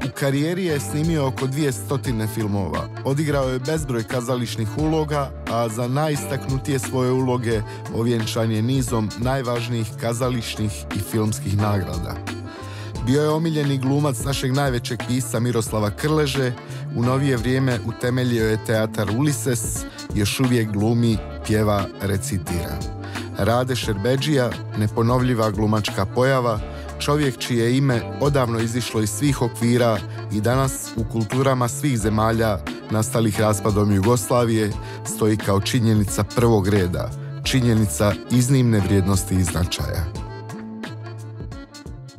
U karijeri je snimio oko 200 filmova. Odigrao je bezbroj kazališnih uloga, a za najistaknutije svoje uloge ovjenčan je nizom najvažnijih kazališnih i filmskih nagrada. Bio je omiljeni glumac našeg najvećeg pisca Miroslava Krleže, u novije vrijeme utemeljio je teatar Ulises, još uvijek glumi, pjeva, recitira. Rade Šerbedžija, neponovljiva glumačka pojava, čovjek čije ime odavno izišlo iz svih okvira i danas u kulturama svih zemalja nastalih raspadom Jugoslavije stoji kao činjenica prvog reda, činjenica iznimne vrijednosti i značaja.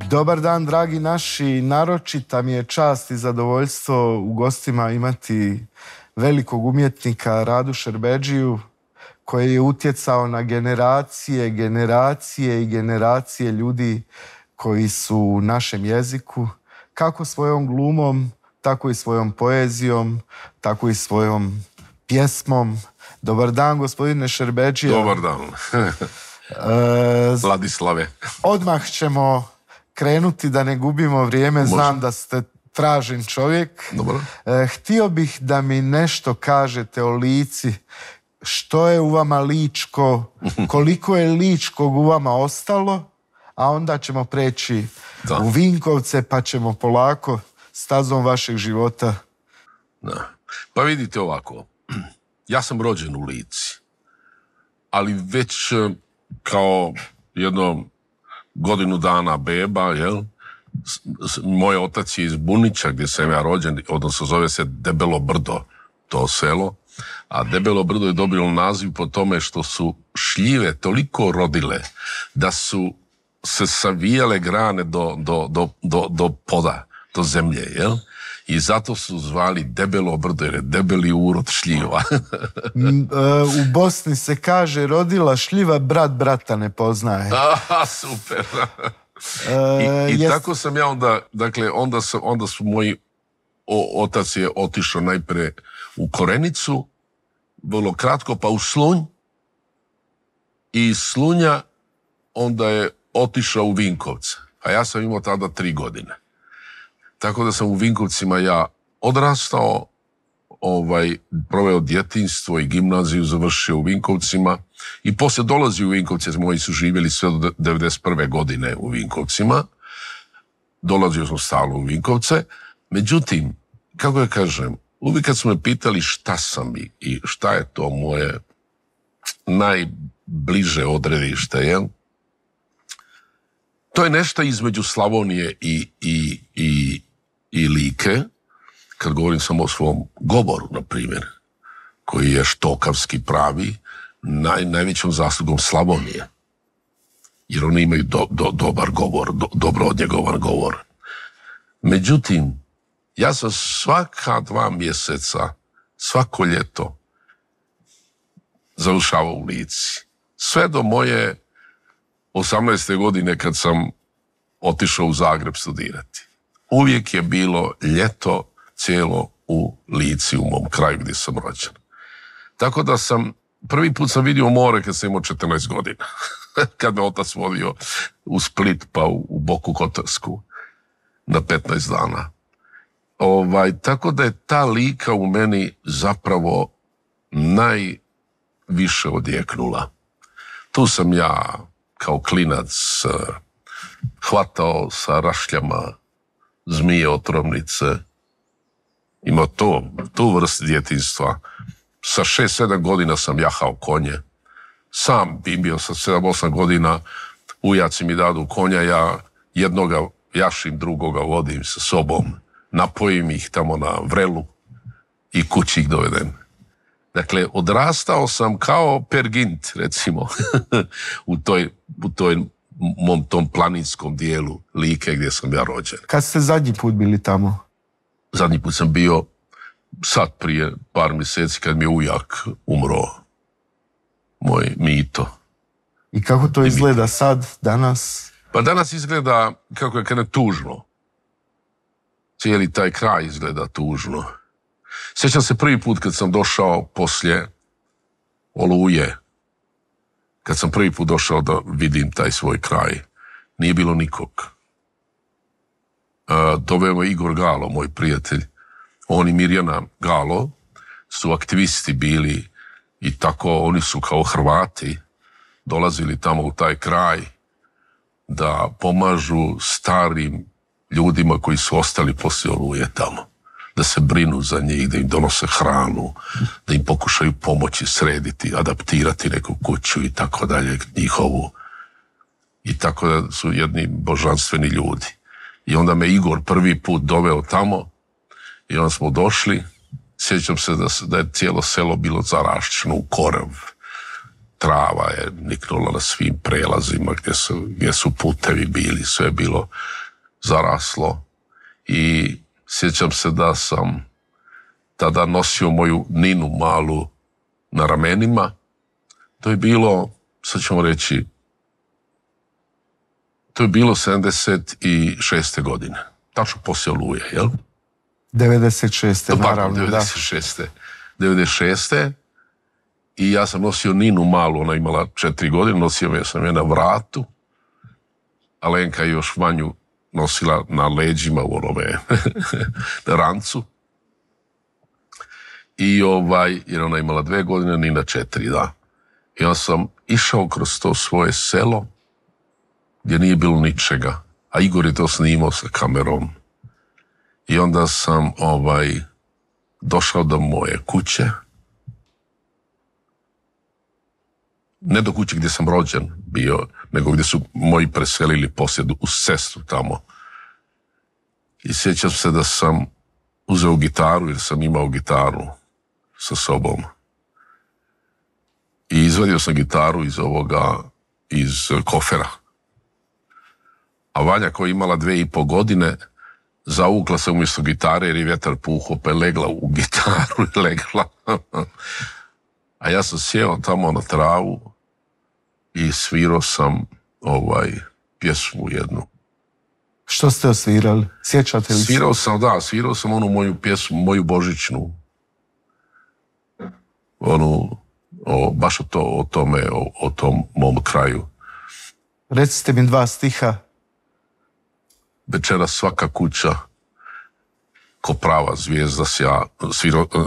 Dobar dan, dragi naši, naročita mi je čast i zadovoljstvo u gostima imati velikog umjetnika Radu Šerbedžiju, koji je utjecao na generacije i generacije ljudi koji su u našem jeziku, kako svojom glumom, tako i svojom poezijom, tako i svojom pjesmom. Dobar dan, gospodine Šerbedžija. Dobar dan. Vladislave. Odmah ćemo krenuti da ne gubimo vrijeme. Može. Znam da ste tražen čovjek. Dobro. Htio bih da mi nešto kažete o Lici. Što je u vama ličko, koliko je ličkog u vama ostalo, a onda ćemo preći u Vinkovce pa ćemo polako stazom vašeg života. Da. Pa vidite ovako, ja sam rođen u Lici, ali već kao jedno godinu dana beba, jel? Moj otac je iz Bunića gdje sam ja rođen, odnosno zove se Debelo Brdo, to selo. A Debelo Brdo je dobilo naziv po tome što su šljive toliko rodile da su se savijale grane do poda, do zemlje, jel? I zato su zvali Debelo Brdo jer je debeli urod šljiva. U Bosni se kaže rodila šljiva, brat brata ne poznaje. Super. I tako sam ja onda, dakle, onda su moji otac je otišao najprije u Korenicu, vrlo kratko, pa u Slunj, i iz Slunja onda je otišao u Vinkovce, a ja sam imao tada 3 godine. Tako da sam u Vinkovcima ja odrastao, proveo djetinjstvo i gimnaziju završio u Vinkovcima i poslije dolazio u Vinkovce, moji su živjeli sve do 91. godine u Vinkovcima, dolazio sam stalno u Vinkovce, međutim, kako ja kažem, uvijek kad su me pitali šta sam i šta je to moje najbliže odredište, jel? To je nešto između Slavonije i Like, kad govorim samo o svom govoru, na primjer, koji je štokavski pravi, najvećom zaslugom Slavonije. Jer oni imaju dobar govor, dobro odnjegovan govor. Međutim, ja sam svaka 2 mjeseca, svako ljeto, završavao u Lici. Sve do moje 18. godine kad sam otišao u Zagreb studirati. Uvijek je bilo ljeto cijelo u Lici, u mom kraju gdje sam rođen. Tako da prvi put sam vidio more kad sam imao 14 godina. Kad me otac vodio u Split pa u Boku Kotarsku na 15 dana. Tako da je ta Lika u meni zapravo najviše odjeknula. Tu sam ja kao klinac hvatao sa rašljama zmije otrovnice. Imao tu vrstu djetinjstva. Sa 6-7 godina sam jahao konje. Sam bio sa 7-8 godina, ujaci mi dadu konja, ja jednoga jašim, drugoga vodim sa sobom. Napojim ih tamo na vrelu i kući ih dovedem. Dakle, odrastao sam kao Pergint, recimo, u mom tom planinskom dijelu Like gdje sam ja rođen. Kad ste zadnji put bili tamo? Zadnji put sam bio sad prije par mjeseci kad mi je ujak umro, moj Mito. I kako to izgleda sad, danas? Pa danas izgleda, kako je kada tužno. Cijeli taj kraj izgleda tužno. Sjećam se prvi put kad sam došao poslije Oluje, kad sam prvi put došao da vidim taj svoj kraj, nije bilo nikog. doveo me Igor Galo, moj prijatelj. On i Mirjana Galo su aktivisti bili i tako oni su kao Hrvati dolazili tamo u taj kraj da pomažu starim ljudima koji su ostali poslije Oluje tamo. Da se brinu za njih, da im donose hranu, da im pokušaju pomoći srediti, adaptirati neku kuću i tako dalje, njihovu. I tako da su jedni božanstveni ljudi. I onda me Igor prvi put doveo tamo i onda smo došli. Sjećam se da je cijelo selo bilo zarašćeno u korev. Trava je niknula na svim prelazima gdje su putevi bili, sve je bilo zaraslo. I sjećam se da sam tada nosio moju Ninu malu na ramenima. To je bilo, sad ćemo reći, to je bilo 76. godine. Tačno poslije Oluje, jel? 96. naravno, 96. 96. I ja sam nosio Ninu malu, ona imala 4 godine, nosio sam je na vratu, a Lenka je još manju nosila na leđima u onome na rancu. I jer ona imala 2 godine, Nina 4, da. I onda sam išao kroz to svoje selo, gdje nije bilo ničega, a Igor je to snimao sa kamerom. I onda sam došao do moje kuće, ne do kuće gdje sam rođen bio, nego gdje su moji preselili poslije u sestru tamo. I sjećam se da sam uzeo gitaru, jer sam imao gitaru sa sobom. I izvadio sam gitaru iz kofera. A Vanja, koja je imala 2,5 godine, zavukla se umjesto gitare jer je vjetar puhao, pa je legla u gitaru i legla. A ja sam sjeo tamo na travu i svirao sam pjesmu jednu. Što ste osvirali? Sjećate li se? Svirao sam onu moju pjesmu, moju božićnu. Baš o tom mom kraju. Recite mi 2 stiha. Večeras svaka kuća ko prava zvijezda sja,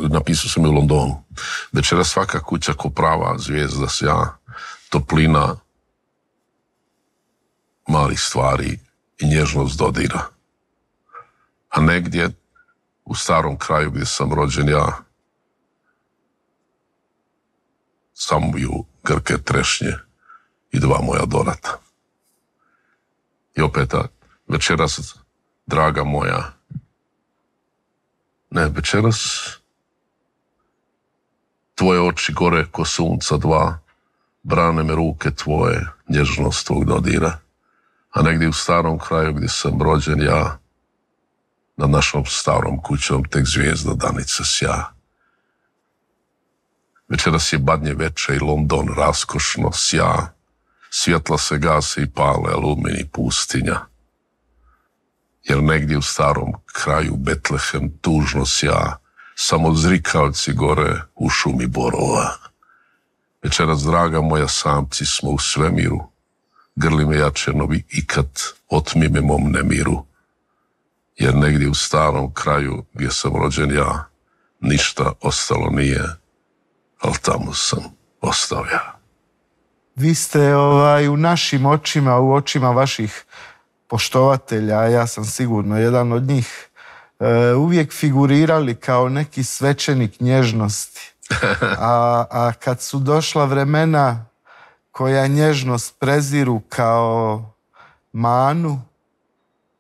napisao sam je u Londonu. Večeras svaka kuća ko prava zvijezda sja, toplina malih stvari i nježnost dodira. A negdje u starom kraju gdje sam rođen ja, samuju grke trešnje i 2 moja dorata. I opet večeras, draga moja, večeras tvoje oči gore ko sunca 2, brane me ruke tvoje, nježnost tvog dodira. A negdje u starom kraju gdje sam rođen ja, nad našom starom kućom tek zvijezda danica sja. Večeras je badnje veče i London raskošno sja, svjetla se gase i pale alumini pustinja. Jer negdje u starom kraju Betlehem tužno sja, samo zrikavci gore u šumi borova. Večeras, draga moja, samci smo u svemiru, grli me jače novi ikad, otmi me mom nemiru. Jer negdje u starom kraju gdje sam rođen ja, ništa ostalo nije, ali tamo sam ostao ja. Vi ste u našim očima, u očima vaših poštovatelja, a ja sam sigurno jedan od njih, uvijek figurirali kao neki svećenik nježnosti. A kad su došla vremena koja nježnost preziru kao manu,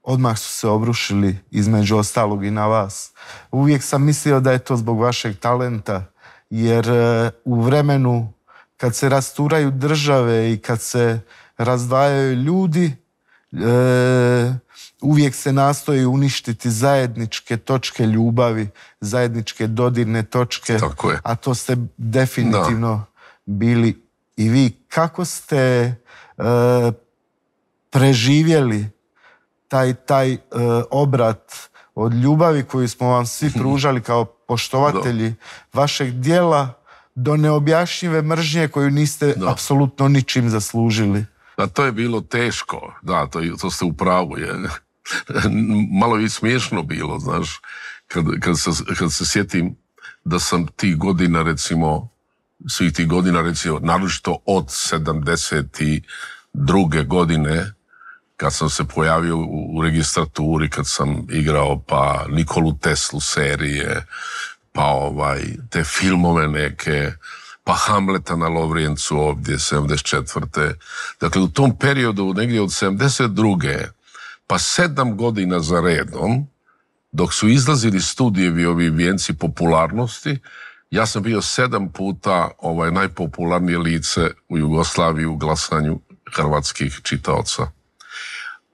odmah su se obrušili između ostalog i na vas. Uvijek sam mislio da je to zbog vašeg talenta, jer u vremenu kad se rasturaju države i kad se razdvajaju ljudi, uvijek se nastoji uništiti zajedničke točke ljubavi, zajedničke dodirne točke, a to ste definitivno bili i vi. Kako ste preživjeli taj obrat od ljubavi koju smo vam svi pružali kao poštovatelji vašeg djela do neobjašnjive mržnje koju niste apsolutno ničim zaslužili? A to je bilo teško, da, to ste u pravu. malo je smiješno bilo, znaš, kad se sjetim da sam tih godina, recimo, naročito od 72. godine, kad sam se pojavio u registraturi, kad sam igrao pa Nikolu Teslu serije, pa te filmove neke, pa Hamleta na Lovrijencu ovdje, 74. Dakle, u tom periodu, negdje od 72. pa 7 godina za redom, dok su izlazili studijevi ovi vijenci popularnosti, ja sam bio 7 puta najpopularnije lice u Jugoslaviji u glasanju hrvatskih čitaoca.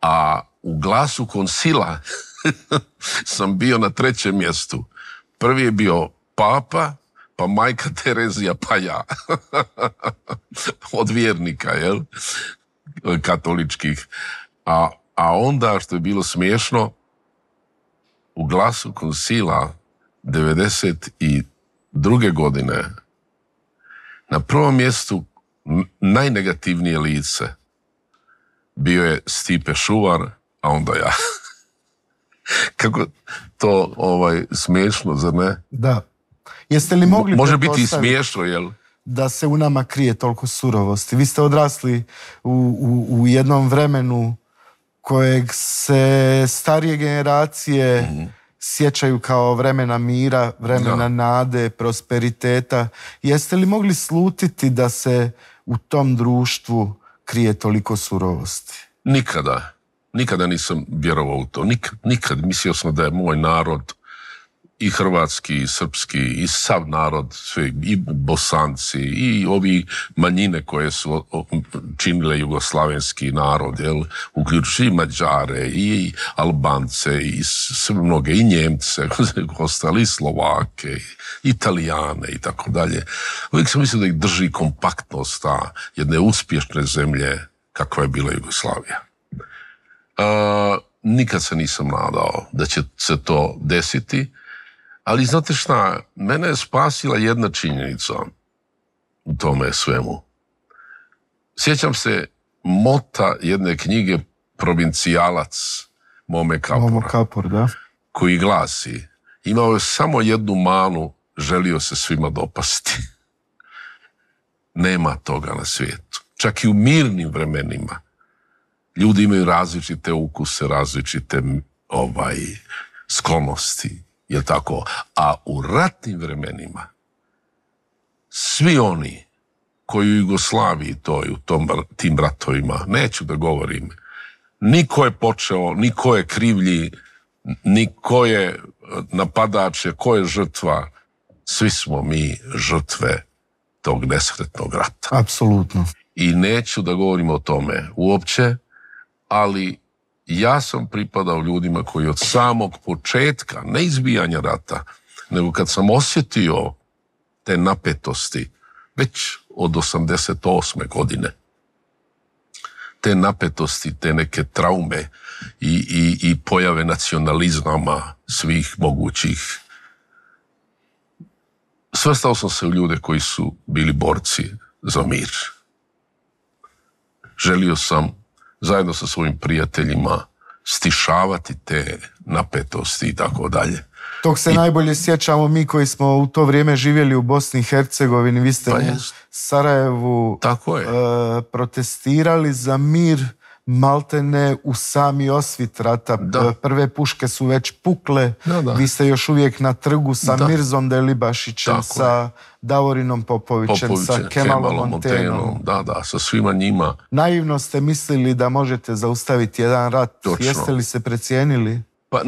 A u Glasu Koncila sam bio na 3. mjestu. Prvi je bio Papa, pa majka Terezija, pa ja. Od vjernika, jel? Katoličkih. A onda, što je bilo smiješno, u Glasu Koncila 92. godine na prvom mjestu najnegativnije lice bio je Stipe Šuvar, a onda ja. Kako to smiješno, zar ne? Da. Jeste li mogli može biti i smiješno, jel? Da se u nama krije toliko surovosti? Vi ste odrasli u jednom vremenu kojeg se starije generacije sjećaju kao vremena mira, vremena nade, prosperiteta. Jeste li mogli slutiti da se u tom društvu krije toliko surovosti? Nikada. Nikada nisam vjerovao u to. Nikad. Mislio sam da je moj narod, i hrvatski, i srpski, i sav narod, sve, i Bosanci, i ovi manjine koje su činile jugoslavenski narod, jel, uključujući i Mađare, i Albance, i sve mnoge, i Njemce, ostali, i Slovake, i Italijane, i tako dalje. Uvijek sam mislio da ih drži kompaktnost jedne uspješne zemlje kakva je bila Jugoslavija. Nikad se nisam nadao da će se to desiti, ali znate šta, mene je spasila jedna činjenica u tome svemu. Sjećam se mota jedne knjige Provincijalac Mome Kapora, da. Koji glasi: imao je samo jednu manu, želio se svima dopasti. Nema toga na svijetu. Čak i u mirnim vremenima ljudi imaju različite ukuse, različite sklonosti, je tako? A u ratnim vremenima svi oni koji u Jugoslaviji tim ratovima, neću da govorim, niko je počeo, niko je krivlji, niko je napadač, ko je žrtva, svi smo mi žrtve tog nesretnog rata. Apsolutno. I neću da govorim o tome uopće, ali ja sam pripadao ljudima koji od samog početka, ne izbijanja rata, nego kad sam osjetio te napetosti, već od 88. godine, te napetosti, te neke traume i pojave nacionalizama svih mogućih, svrstao sam se u ljude koji su bili borci za mir. Želio sam zajedno sa svojim prijateljima stišavati te napetosti i tako dalje. Tog se najbolje sjećamo mi koji smo u to vrijeme živjeli u Bosni i Hercegovini. Vi ste u Sarajevu protestirali za mir, maltene u sami osvit rata. Da. Prve puške su već pukle. Da. Vi ste još uvijek na trgu sa Mirzom Delibašićem, tako sa Davorinom Popovićem, sa Kemalom Montenom. Da, sa svima njima. Naivno ste mislili da možete zaustaviti jedan rat. Točno. Jeste li se precijenili? Pa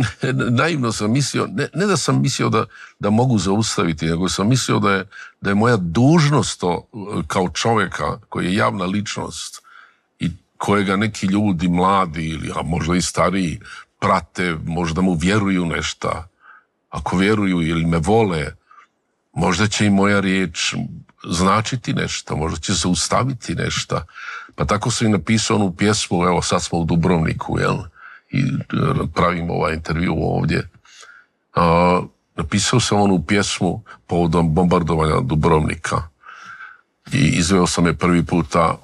naivno sam mislio, ne da sam mislio da mogu zaustaviti, nego sam mislio da je moja dužnost to, kao čovjeka koji je javna ličnost i kojega neki ljudi mladi ili a možda i stariji prate, možda mu vjeruju nešto. Ako vjeruju ili me vole, možda će i moja riječ značiti nešto, možda će zaustaviti nešto. Pa tako sam i napisao onu pjesmu, evo sad smo u Dubrovniku, jel? I pravim ovaj intervju ovdje. Napisao sam onu pjesmu povodom bombardovanja Dubrovnika i izveo sam je prvi puta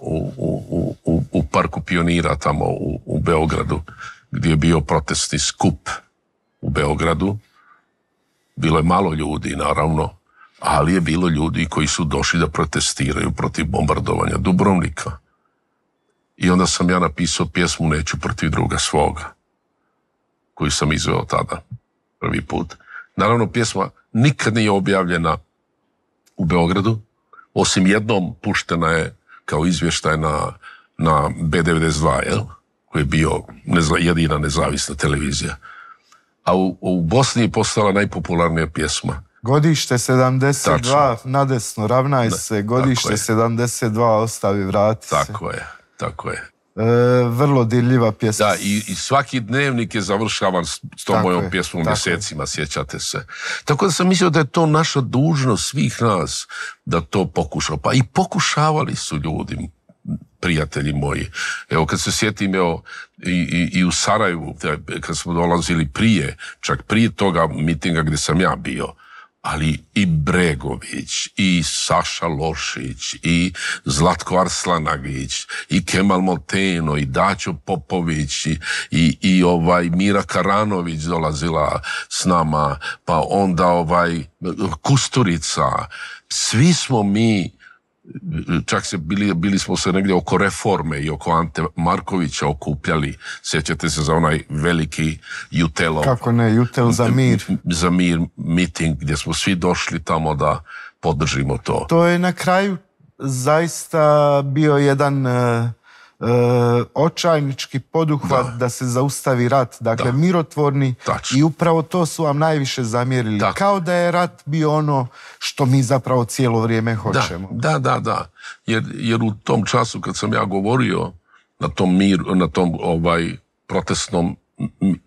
u Parku Pionira tamo u Beogradu, gdje je bio protestni skup u Beogradu. Bilo je malo ljudi, naravno, ali je bilo ljudi koji su došli da protestiraju protiv bombardovanja Dubrovnika. I onda sam ja napisao pjesmu Neću protiv druga svoga, koju sam izveo tada, prvi put. Naravno, pjesma nikad nije objavljena u Beogradu, osim jednom puštena je kao izvještaj na B92, jel? Koji je bio jedina nezavisna televizija. A u Bosni je postala najpopularnija pjesma. Godište 72, tačno. Nadesno, ravnaj se, godište 72, ostavi, vrati se. Tako je. Vrlo dirljiva pjesma. Da, i svaki dnevnik je završavan s tom mojom pjesmom mjesecima, sjećate se. Tako da sam mislio da je to naša dužnost svih nas da to pokušamo. Pa i pokušavali su ljudi, prijatelji moji. Evo, kad se sjetim, i u Sarajevu, kad smo dolazili čak prije toga mitinga gdje sam ja bio, ali i Bregović, i Saša Lošić, i Zlatko Arslanagić, i Kemal Moteno, i Daćo Popović, i Mira Karanović dolazila s nama, pa onda Kusturica. Svi smo mi, čak bili smo se negdje oko Reforme i oko Ante Markovića okupljali. Sjećate se za onaj veliki Jutelov. Kako ne, Jutel za mir. Za mir miting gdje smo svi došli tamo da podržimo to. To je na kraju zaista bio jedan očajnički poduhvat da se zaustavi rat. Dakle, mirotvorni. Tačno. I upravo to su vam najviše zamjerili. Tako. Kao da je rat bio ono što mi zapravo cijelo vrijeme hoćemo. Da. Jer u tom času kad sam ja govorio na tom protestnom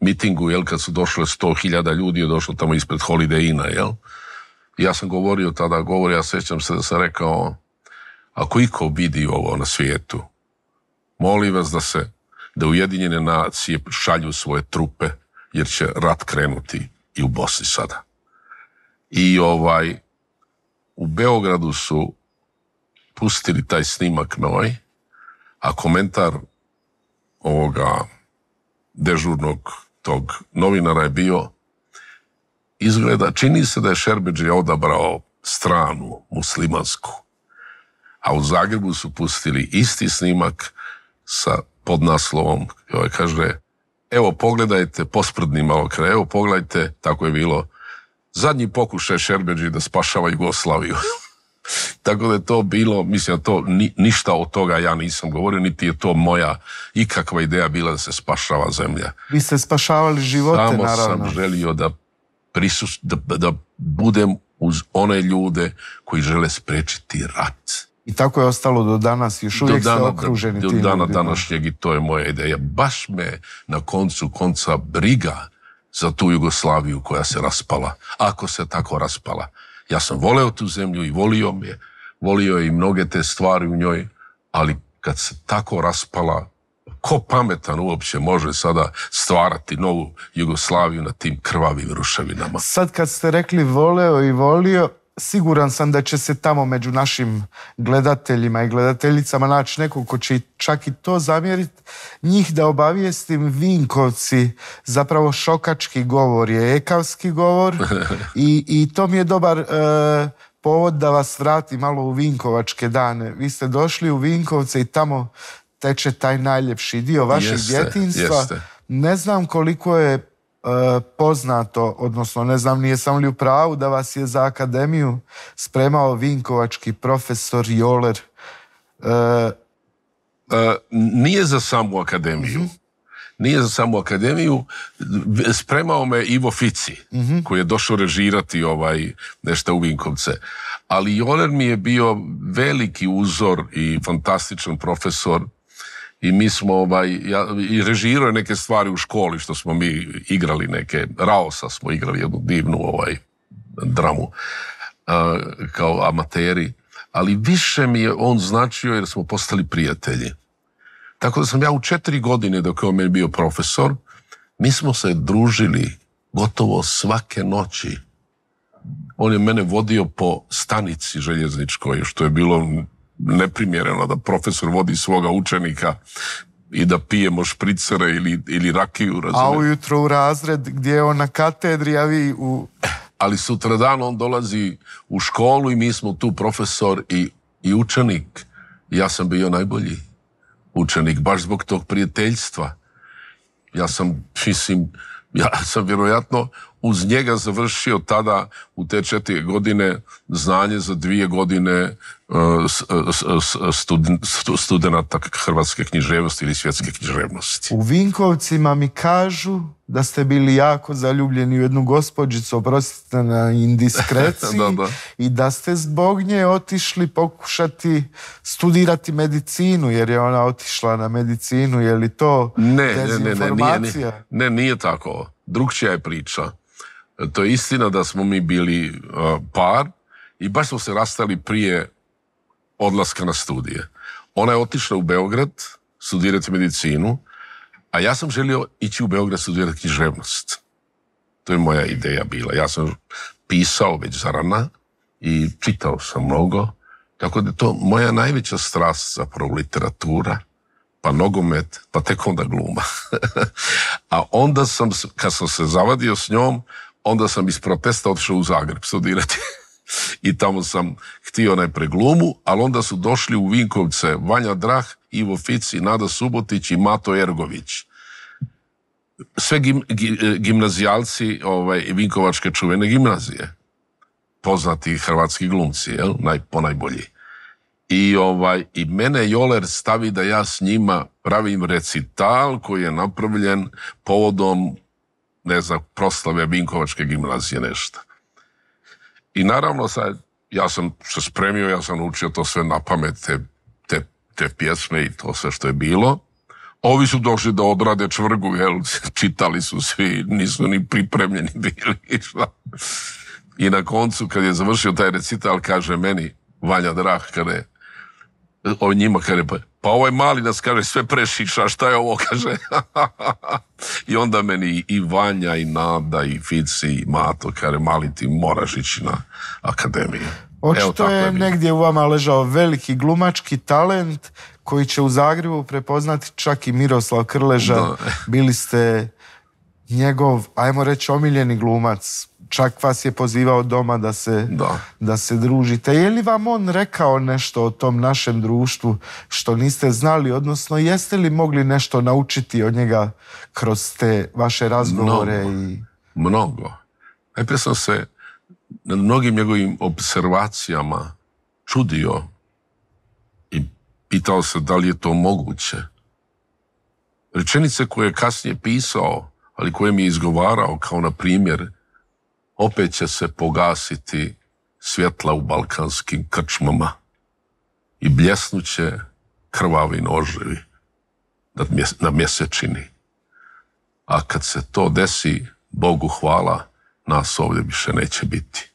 mitingu, jel, kad su došle 100.000 ljudi, je došlo tamo ispred Holiday Inna, jel? Ja sam govorio tada, ja sjećam se da sam rekao, ako iko vidi ovo na svijetu, molim vas da Ujedinjene nacije šalju svoje trupe, jer će rat krenuti i u Bosni sada. I u Beogradu su pustili taj snimak moj, a komentar ovoga dežurnog tog novinara je bio, čini se da je Šerbedžija odabrao stranu muslimansku, a u Zagrebu su pustili isti snimak sa podnaslovom, kaže, evo pogledajte, posprdni malo kraj, evo pogledajte, tako je bilo, zadnji pokušaj Šerbedžije da spašava Jugoslaviju. Tako da je to bilo, mislim da to ništa od toga ja nisam govorio, niti je to moja ikakva ideja bila da se spašava zemlja. Vi ste spašavali živote, naravno. Samo sam želio da budem uz one ljude koji žele sprečiti rat. I tako je ostalo do danas, još uvijek ste okruženi tim ljudima. Do dana današnjeg, i to je moja ideja. Baš me na koncu konca briga za tu Jugoslaviju koja se raspala, ako se tako raspala. Ja sam voleo tu zemlju i volio je i mnoge te stvari u njoj, ali kad se tako raspala, ko pametan uopće može sada stvarati novu Jugoslaviju na tim krvavim ruševinama? Sad kad ste rekli voleo i volio, siguran sam da će se tamo među našim gledateljima i gledateljicama naći neko ko će čak i to zamjeriti. Njih da obavijestim, Vinkovci, zapravo šokački govor je ekavski govor i to mi je dobar povod da vas vrati malo u Vinkovačke dane. Vi ste došli u Vinkovce i tamo teče taj najljepši dio vašeg djetinjstva. Jeste. Ne znam koliko je poznato, odnosno ne znam nijesam li u pravu da vas je za akademiju spremao vinkovački profesor Joler. Nije za samu akademiju. Nije za samu akademiju. Spremao me Ivo Fici, koji je došao režirati nešto u Vinkovce. Ali Joler mi je bio veliki uzor i fantastičan profesor. I mi smo, i režirao neke stvari u školi, što smo mi igrali neke, Raosa smo igrali jednu divnu dramu kao amateri, ali više mi je on značio jer smo postali prijatelji. Tako da sam ja u 4 godine dok je on meni bio profesor, mi smo se družili gotovo svake noći. On je mene vodio po stanici željezničkoj, što je bilo neprimjereno da profesor vodi svoga učenika i da pijemo špricere ili rakiju, razumiješ. A ujutro u razred gdje je on na katedri, a vi u... Ali sutradan on dolazi u školu i mi smo tu profesor i učenik. Ja sam bio najbolji učenik, baš zbog tog prijateljstva. Ja sam vjerojatno uz njega završio tada u te 4 godine znanje za 2 godine studenata hrvatske književnosti ili svjetske književnosti. U Vinkovcima mi kažu da ste bili jako zaljubljeni u jednu gospođicu, oprostite na indiskreciji, i da ste zbog nje otišli pokušati studirati medicinu, jer je ona otišla na medicinu. Je li to dezinformacija? Ne, nije tako. Drugčija je priča. To je istina da smo mi bili par i baš smo se rastali prije odlaska na studije. Ona je otišla u Beograd studirati medicinu, a ja sam želio ići u Beograd studirati književnost. To je moja ideja bila. Ja sam pisao već zarana i čitao sam mnogo, tako da je to moja najveća strast, zapravo literatura, pa nogomet, pa tek onda gluma. A onda sam, kad sam se zavadio s njom, onda sam iz protesta otišao u Zagreb studirati. I tamo sam htio najpre glumu, ali onda su došli u Vinkovce Vanja Drah, Ivo Fici, Nada Subotić i Mato Ergović. Sve gimnazijalci Vinkovačke čuvene gimnazije. Poznati hrvatski glumci, ponajbolji. I mene Joler stavi da ja s njima pravim recital koji je napravljen povodom, ne znam, proslave Vinkovačke gimnazije, nešto. I naravno sad, ja sam se spremio, ja sam učio to sve na pamet, te pjesme i to sve što je bilo. Ovi su došli da odrade čvrgu, čitali su svi, nisu ni pripremljeni bili. I na koncu, kad je završio taj recital, kaže meni Vanja Drah, njima kaže, pa ovaj mali nas, kaže, sve prešiša, šta je ovo, kaže. I onda meni i Vanja, i Nada, i Fici, i Mato, kaže, mali, ti moraš ići na akademiju. Očito je negdje u vama ležao veliki glumački talent koji će u Zagrebu prepoznati čak i Miroslav Krleža. Bili ste njegov, ajmo reći, omiljeni glumac. Čak vas je pozivao doma da se družite. Je li vam on rekao nešto o tom našem društvu što niste znali, odnosno jeste li mogli nešto naučiti od njega kroz te vaše razgovore? Mnogo. Najprije sam se na mnogim njegovim observacijama čudio i pitao se da li je to moguće. Rečenice koje je kasnije pisao, ali koje mi je izgovarao, kao na primjer, opet će se pogasiti svjetla u balkanskim krčmama i bljesnuće krvavi noževi na mjesečini. A kad se to desi, Bogu hvala, nas ovdje više neće biti.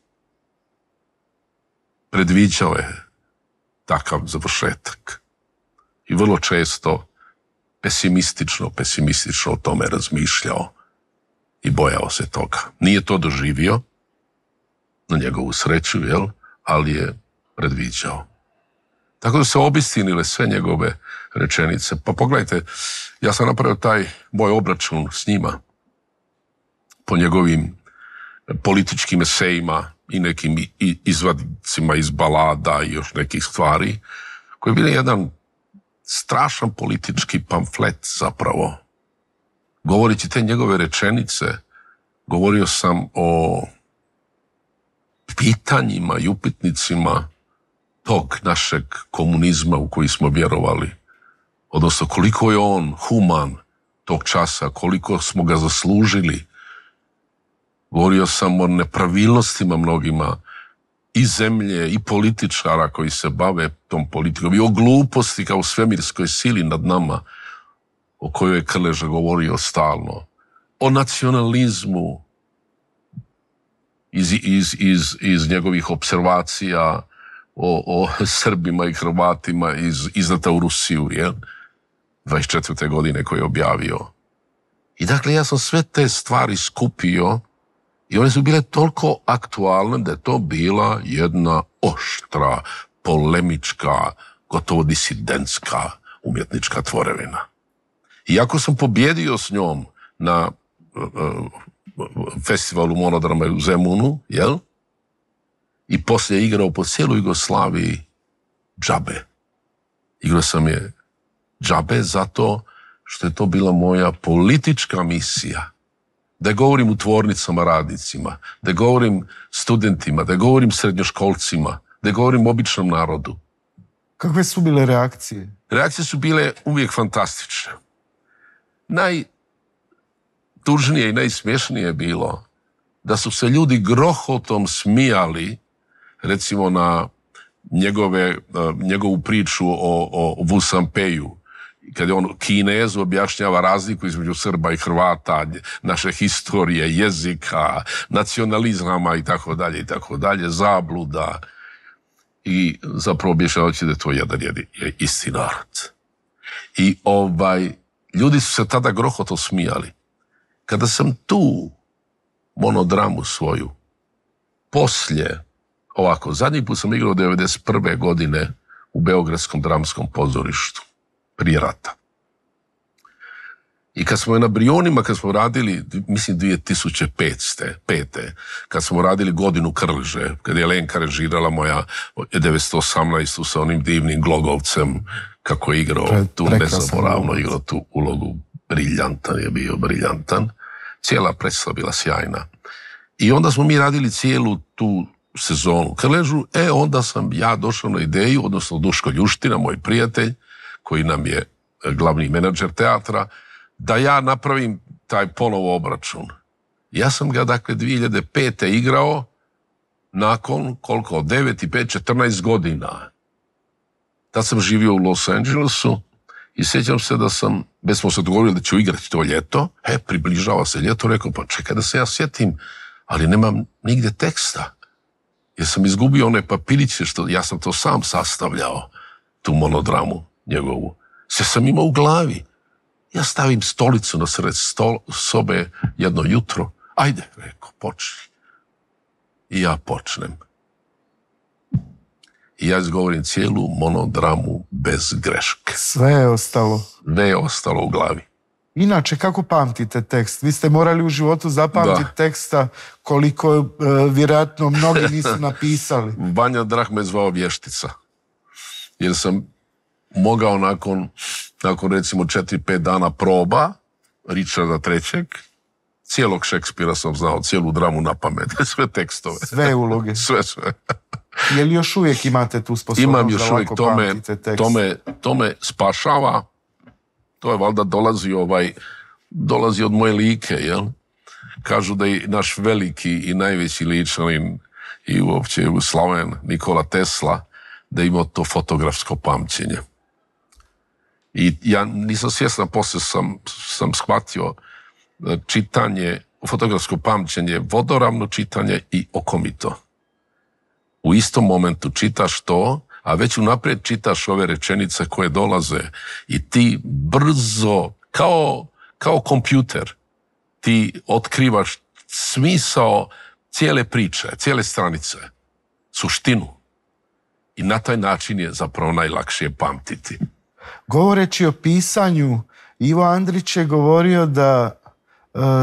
Predviđao je takav završetak i vrlo često pesimistično o tome razmišljao i bojao se toga. Nije to doživio, na njegovu sreću, ali je predviđao. Tako da se obistinile sve njegove rečenice. Pa pogledajte, ja sam napravio taj moj obračun s njima po njegovim političkim esejima i nekim izvadicima iz balada i još nekih stvari, koji je bio jedan strašan politički pamflet zapravo. Govoreći te njegove rečenice, govorio sam o pitanjima i upitnicima tog našeg komunizma u koji smo vjerovali. Odnosno, koliko je on human tog časa, koliko smo ga zaslužili. Govorio sam o nepravilnostima mnogima i zemlje i političara koji se bave tom politikom i o gluposti kao svemirskoj sili nad nama, o kojoj je Krleža govorio stalno, o nacionalizmu iz njegovih observacija o Srbima i Hrvatima izdata u Rusiju, 24. godine koje je objavio. I dakle, ja sam sve te stvari skupio i one su bile toliko aktualne da je to bila jedna oštra, polemička, gotovo disidentska umjetnička tvorevina. Iako sam pobjedio s njom na festivalu monodrama u Zemunu, jel? I poslije igrao po cijeloj Jugoslaviji džabe. Igrao sam je džabe zato što je to bila moja politička misija. Da govorim u tvornicama radnicima, da govorim studentima, da govorim srednjoškolcima, da govorim običnom narodu. Kakve su bile reakcije? Reakcije su bile uvijek fantastične. Najtužnije i najsmješnije je bilo da su se ljudi grohotom smijali, recimo na njegovu priču o Vu Sampeju, kad je on Kinezu objašnjava razliku između Srba i Hrvata, naše historije, jezika, nacionalizama i tako dalje, zabluda. I zapravo objašnjavajući da je to jedan isti narod. I ljudi su se tada grohoto smijali. Kada sam tu monodramu svoju, poslije, zadnji put sam igrao 1991. godine u Beogradskom dramskom pozorištu, prije rata. I kad smo na Brionima, kad smo radili, mislim 2005. Kad smo radili Godinu Krleže, kad je Lenka režirala moja 1918. sa onim divnim Glogovcem, kako je igrao tu nezaboravno, igrao tu ulogu, briljantan. Cijela predstava bila sjajna. I onda smo mi radili cijelu tu sezonu Krležu, onda sam ja došao na ideju, odnosno Duško Ljuština, moj prijatelj, koji nam je glavni menadžer teatra, da ja napravim taj ponovo obračun. Ja sam ga, dakle, 2005. igrao nakon, 9 i 5, 14 godina. Tad sam živio u Los Angelesu i sjećam se da već smo se dogovorili da ću igrati to ljeto, približava se ljeto, rekao, pa čekaj da se ja sjetim, ali nemam nigdje teksta. Jer sam izgubio one papiriće, ja sam to sam sastavljao, tu monodramu njegovu. Sve sam imao u glavi. Ja stavim stolicu na sred sobe jedno jutro. Ajde, rekao, počni. I ja počnem. I ja izgovorim cijelu monodramu bez greške. Sve je ostalo. Sve je ostalo u glavi. Inače, kako pamtite tekst? Vi ste morali u životu zapamtiti teksta koliko vjerojatno mnogi nisu napisali. Vanja Drah me zvao vještica. Jer sam mogao nakon recimo 4-5 dana proba Richarda III. Cijelog Šekspira sam znao, cijelu dramu na pamet, sve tekstove. Sve uloge. Sve. Je li još uvijek imate tu sposobnost? Imam još uvijek, to me spašava. To je valjda dolazi od moje like, jel? Kažu da je naš veliki i najveći ličanin i uopće Slaven Nikola Tesla, da je imao to fotografsko pamćenje. I ja nisam svjestan, poslije sam shvatio čitanje, fotografsko pamćenje, vodoravno čitanje i okomito. U istom momentu čitaš to, a već unaprijed čitaš ove rečenice koje dolaze i ti brzo, kao kompjuter, ti otkrivaš smisao cijele priče, cijele stranice, suštinu. I na taj način je zapravo najlakše pamtiti. Govoreći o pisanju, Ivo Andrić je govorio da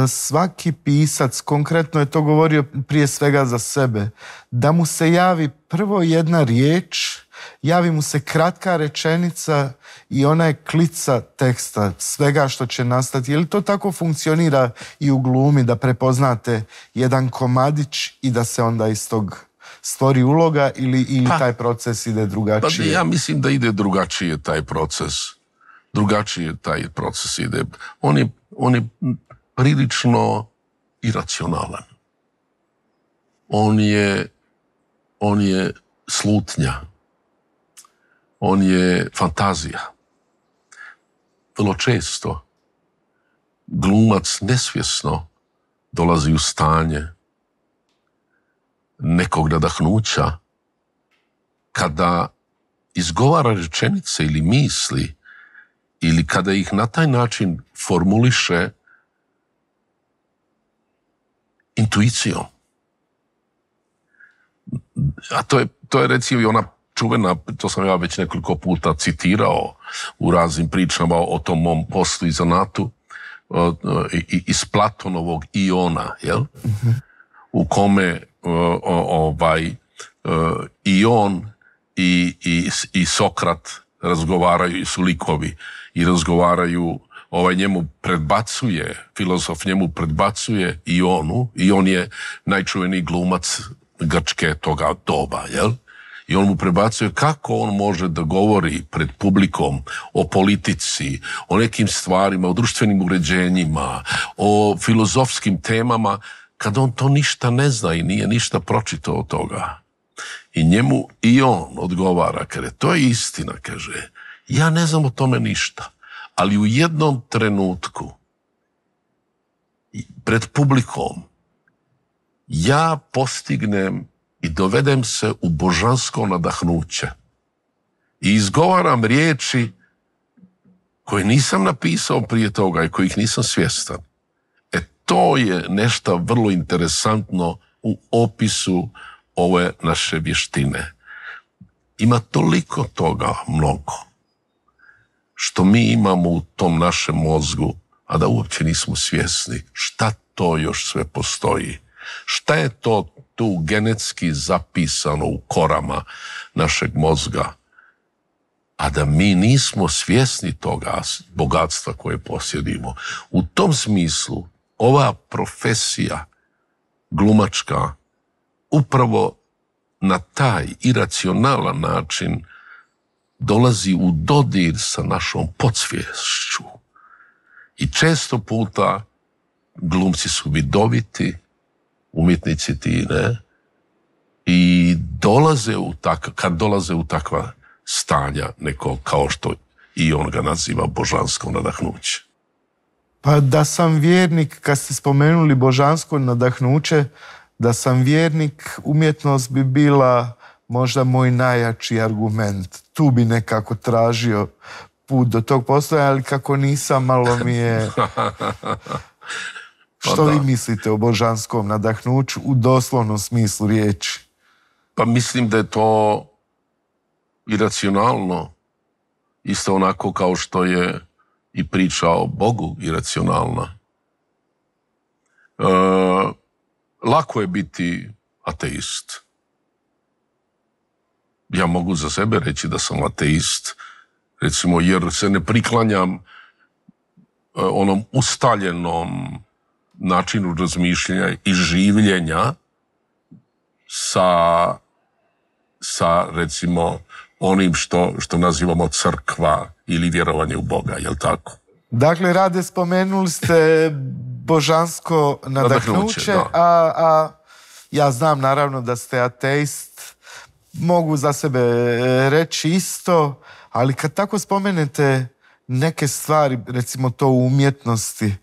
svaki pisac, konkretno je to govorio prije svega za sebe, da mu se javi prvo jedna riječ, javi mu se kratka rečenica i ona je klica teksta, svega što će nastati. Je li to tako funkcionira i u glumi, da prepoznate jedan komadić i da se onda iz tog stvori uloga ili taj proces ide drugačije? Pa ja mislim da ide drugačije taj proces. Drugačije taj proces ide. On je prilično iracionalan. On je slutnja. On je fantazija. Vrlo često glumac nesvjesno dolazi u stanje nekog nadahnuća kada izgovara rečenice ili misli ili kada ih na taj način formuliše intuicijom. A to je recimo i ona čuvena, to sam ja već nekoliko puta citirao u raznim pričama o tom mom poslu i zanatu, iz Platonovog Iona, jel? U kome Ion i Sokrat razgovaraju, i su likovi, i razgovaraju, njemu predbacuje, filozof njemu predbacuje Ionu, i on je najčuveniji glumac Grčke toga doba, jel? I on mu prebacuje kako on može da govori pred publikom o politici, o nekim stvarima, o društvenim uređenjima, o filozofskim temama, kad on to ništa ne zna i nije ništa pročitao od toga. I njemu i on odgovara, kaže, to je istina, kaže, ja ne znam o tome ništa, ali u jednom trenutku pred publikom ja postignem i dovedem se u božansko nadahnuće i izgovaram riječi koje nisam napisao prije toga i kojih nisam svjestan. To je nešto vrlo interesantno u opisu ove naše vještine. Ima toliko toga mnogo što mi imamo u tom našem mozgu, a da uopće nismo svjesni šta to još sve postoji. Šta je to tu genetski zapisano u korama našeg mozga, a da mi nismo svjesni toga bogatstva koje posjedimo. U tom smislu ova profesija glumačka upravo na taj iracionalan način dolazi u dodir sa našom podsviješću. I često puta glumci su vidoviti, umjetnici ti, ne? I kad dolaze u takva stanja neko, kao što i on ga naziva božansko nadahnuće. Pa da sam vjernik, kad ste spomenuli božansko nadahnuće, da sam vjernik, umjetnost bi bila možda moj najjači argument. Tu bi nekako tražio put do tog postoja, ali kako nisam, malo mi je... Što vi mislite o božanskom nadahnuću u doslovnom smislu riječi? Pa mislim da je to iracionalno, isto onako kao što je i priča o Bogu iracionalna. Lako je biti ateist. Ja mogu za sebe reći da sam ateist, recimo, jer se ne priklanjam onom ustaljenom načinu razmišljanja i življenja sa recimo onim što nazivamo crkva ili vjerovanje u Boga, jel tako? Dakle, Rade, spomenuli ste božansko nadahnuće, a ja znam naravno da ste ateist, mogu za sebe reći isto, ali kad tako spomenete neke stvari, recimo to u umjetnosti,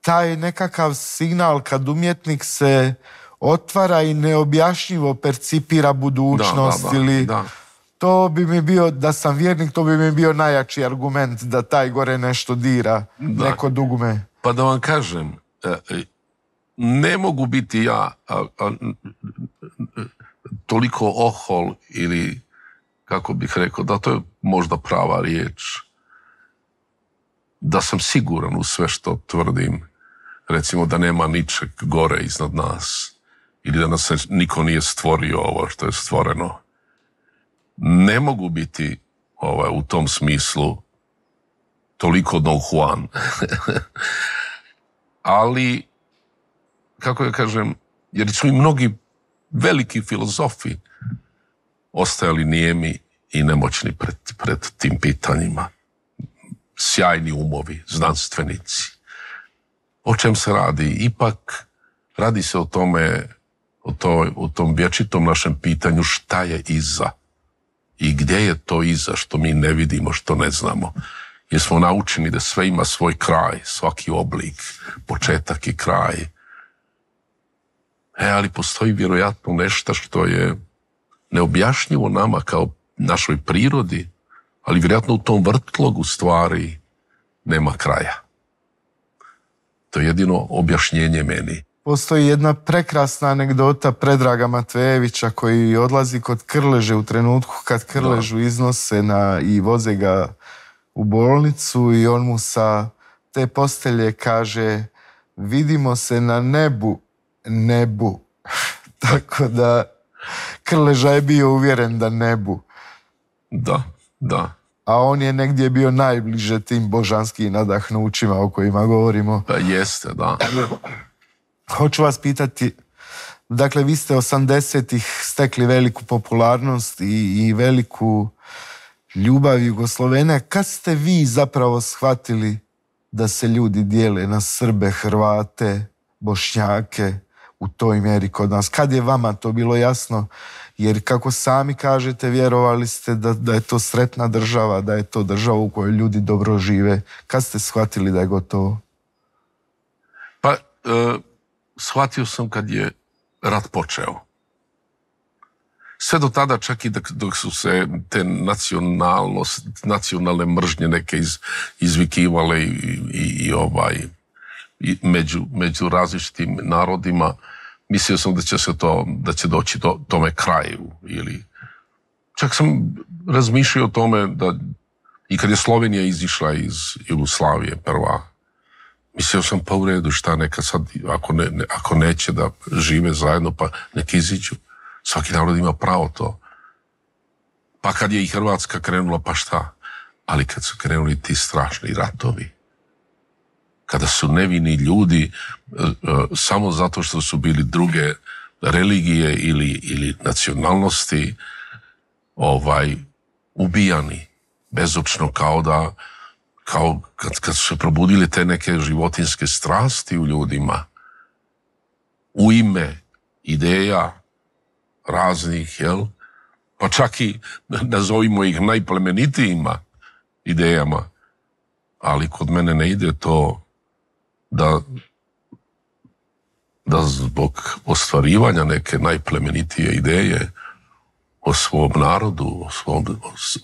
taj nekakav signal kad umjetnik se otvara i neobjašnjivo percipira budućnost, to bi mi bio, da sam vjernik, to bi mi bio najjači argument da taj gore nešto dira, neko dugme. Pa da vam kažem, ne mogu biti ja toliko ohol ili, kako bih rekao, da to je možda prava riječ, da sam siguran u sve što tvrdim, recimo da nema ničeg gore iznad nas ili da nas niko nije stvorio ovo što je stvoreno. Ne mogu biti u tom smislu toliko Don Juan. Ali, kako ja kažem, jer su i mnogi veliki filozofi ostajali nijemi i nemoćni pred tim pitanjima. Sjajni umovi, znanstvenici. O čem se radi? Ipak radi se o tome, o tom vječitom našem pitanju šta je iza i gdje je to iza što mi ne vidimo, što ne znamo. Jer smo naučeni da sve ima svoj kraj, svaki oblik, početak i kraj. Ali postoji vjerojatno nešto što je neobjašnjivo nama kao našoj prirodi, ali vjerojatno u tom vrtlogu stvari nema kraja. To je jedino objašnjenje meni. Postoji jedna prekrasna anegdota Predraga Matvejevića koji odlazi kod Krleže u trenutku kad Krležu iznose i voze ga u bolnicu i on mu sa te postelje kaže vidimo se na nebu. Tako da Krleža je bio uvjeren da nebu. Da. A on je negdje bio najbliže tim božanskim nadahnućima o kojima govorimo. Pa jeste, da. Hoću vas pitati, dakle vi ste 80-ih stekli veliku popularnost i veliku ljubav Jugoslovene. Kad ste vi zapravo shvatili da se ljudi dijele na Srbe, Hrvate, Bošnjake u toj mjeri kod nas? Kad je vama to bilo jasno? Jer kako sami kažete, vjerovali ste da je to sretna država, da je to država u kojoj ljudi dobro žive. Kad ste shvatili da je gotovo? Pa, shvatio sam kad je rat počeo. Sve do tada, čak i dok su se te nacionalne mržnje neke izvikivale i među različitim narodima, mislio sam da će doći tome kraju. Čak sam razmišljao o tome da i kad je Slovenija izišla iz Jugoslavije prva, mislio sam pa u redu šta neka sad, ako neće da žive zajedno, pa neka iziđu. Svaki narod ima pravo to. Pa kad je i Hrvatska krenula, pa šta? Ali kad su krenuli ti strašni ratovi, kada su nevini ljudi samo zato što su bili druge religije ili nacionalnosti ubijani bezočno, kao kad su se probudili te neke životinjske strasti u ljudima u ime ideja raznih, pa čak i nazovimo ih najplemenitijima idejama, ali kod mene ne ide to da zbog ostvarivanja neke najplemenitije ideje o svom narodu,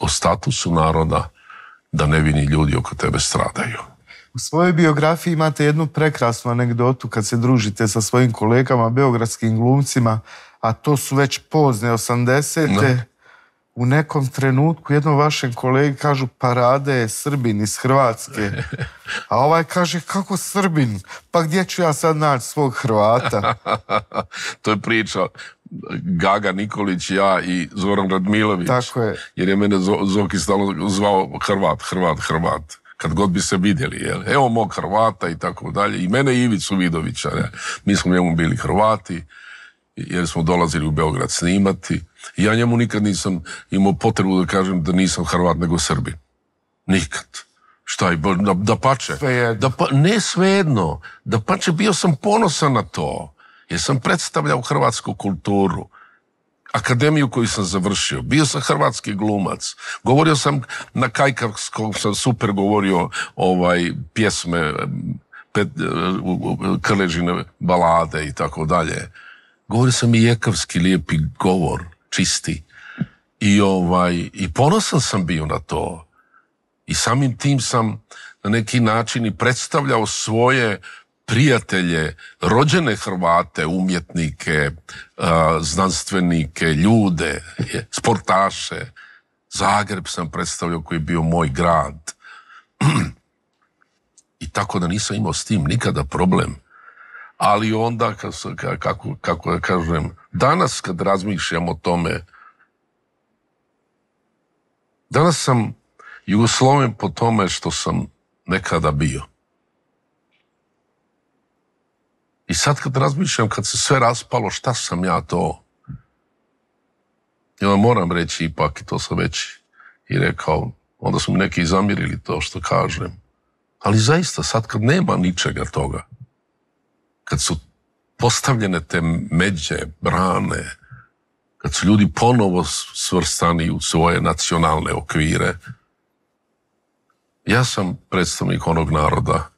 o statusu naroda, da nevini ljudi oko tebe stradaju. U svojoj biografiji imate jednu prekrasnu anegdotu kad se družite sa svojim kolegama, beogradskim glumcima, a to su već pozne 80-te. U nekom trenutku jednom vašem kolegi kažu Parade je Srbin iz Hrvatske. A ovaj kaže, kako Srbin? Pa gdje ću ja sad naći svog Hrvata? To je priča Gaga Nikolić, ja i Zoran Radmilović. Tako je. Jer je mene Zoki stalno zvao Hrvat. Kad god bi se vidjeli, evo mog Hrvata i tako dalje. I mene i Ivicu Vidovića. Mi smo njemu bili Hrvati, jer smo dolazili u Beograd snimati. I ja njemu nikad nisam imao potrebu da kažem da nisam Hrvat nego Srbin. Nikad. Šta je, da pače? Ne svejedno. Da pače, bio sam ponosan na to. Jer sam predstavljao hrvatsku kulturu. Akademiju koju sam završio. Bio sam hrvatski glumac. Govorio sam na kajkavskom, sam super govorio pjesme, Krležine balade i tako dalje. Govorio sam i jekavski lijepi govor, čisti. I ponosan sam bio na to. I samim tim sam na neki način i predstavljao svoje prijatelje, rođene Hrvate, umjetnike, znanstvenike, ljude, sportaše. Zagreb sam predstavljao koji je bio moj grad. I tako da nisam imao s tim nikada problem. Ali onda, kako da kažem, danas kad razmišljam o tome, danas sam Jugosloven po tome što sam nekada bio. I sad kad razmišljam, kad se sve raspalo, šta sam ja to? Ja moram reći ipak, i to sam već i rekao, onda su mi neki zamjerili to što kažem. Ali zaista, sad kad nema ničega toga, kad su postavljene te međe, brane, kad su ljudi ponovo svrstani u svoje nacionalne okvire, ja sam predstavnik onog naroda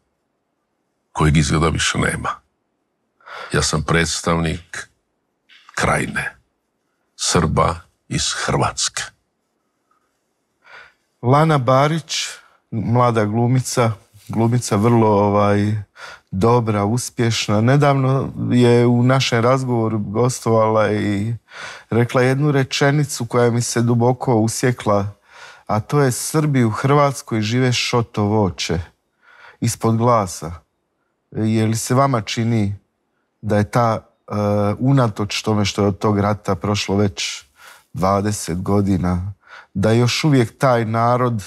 kojeg izgleda više nema. Ja sam predstavnik Krajine, Srba iz Hrvatske. Lana Barić, mlada glumica vrlo dobra, uspješna. Nedavno je u našem razgovoru gostovala i rekla jednu rečenicu koja mi se duboko usjekla, a to je: Srbi u Hrvatskoj žive šoto voće ispod glasa. Je li se vama čini da je ta, unatoč tome što je od tog rata prošlo već 20 godina, da još uvijek taj narod,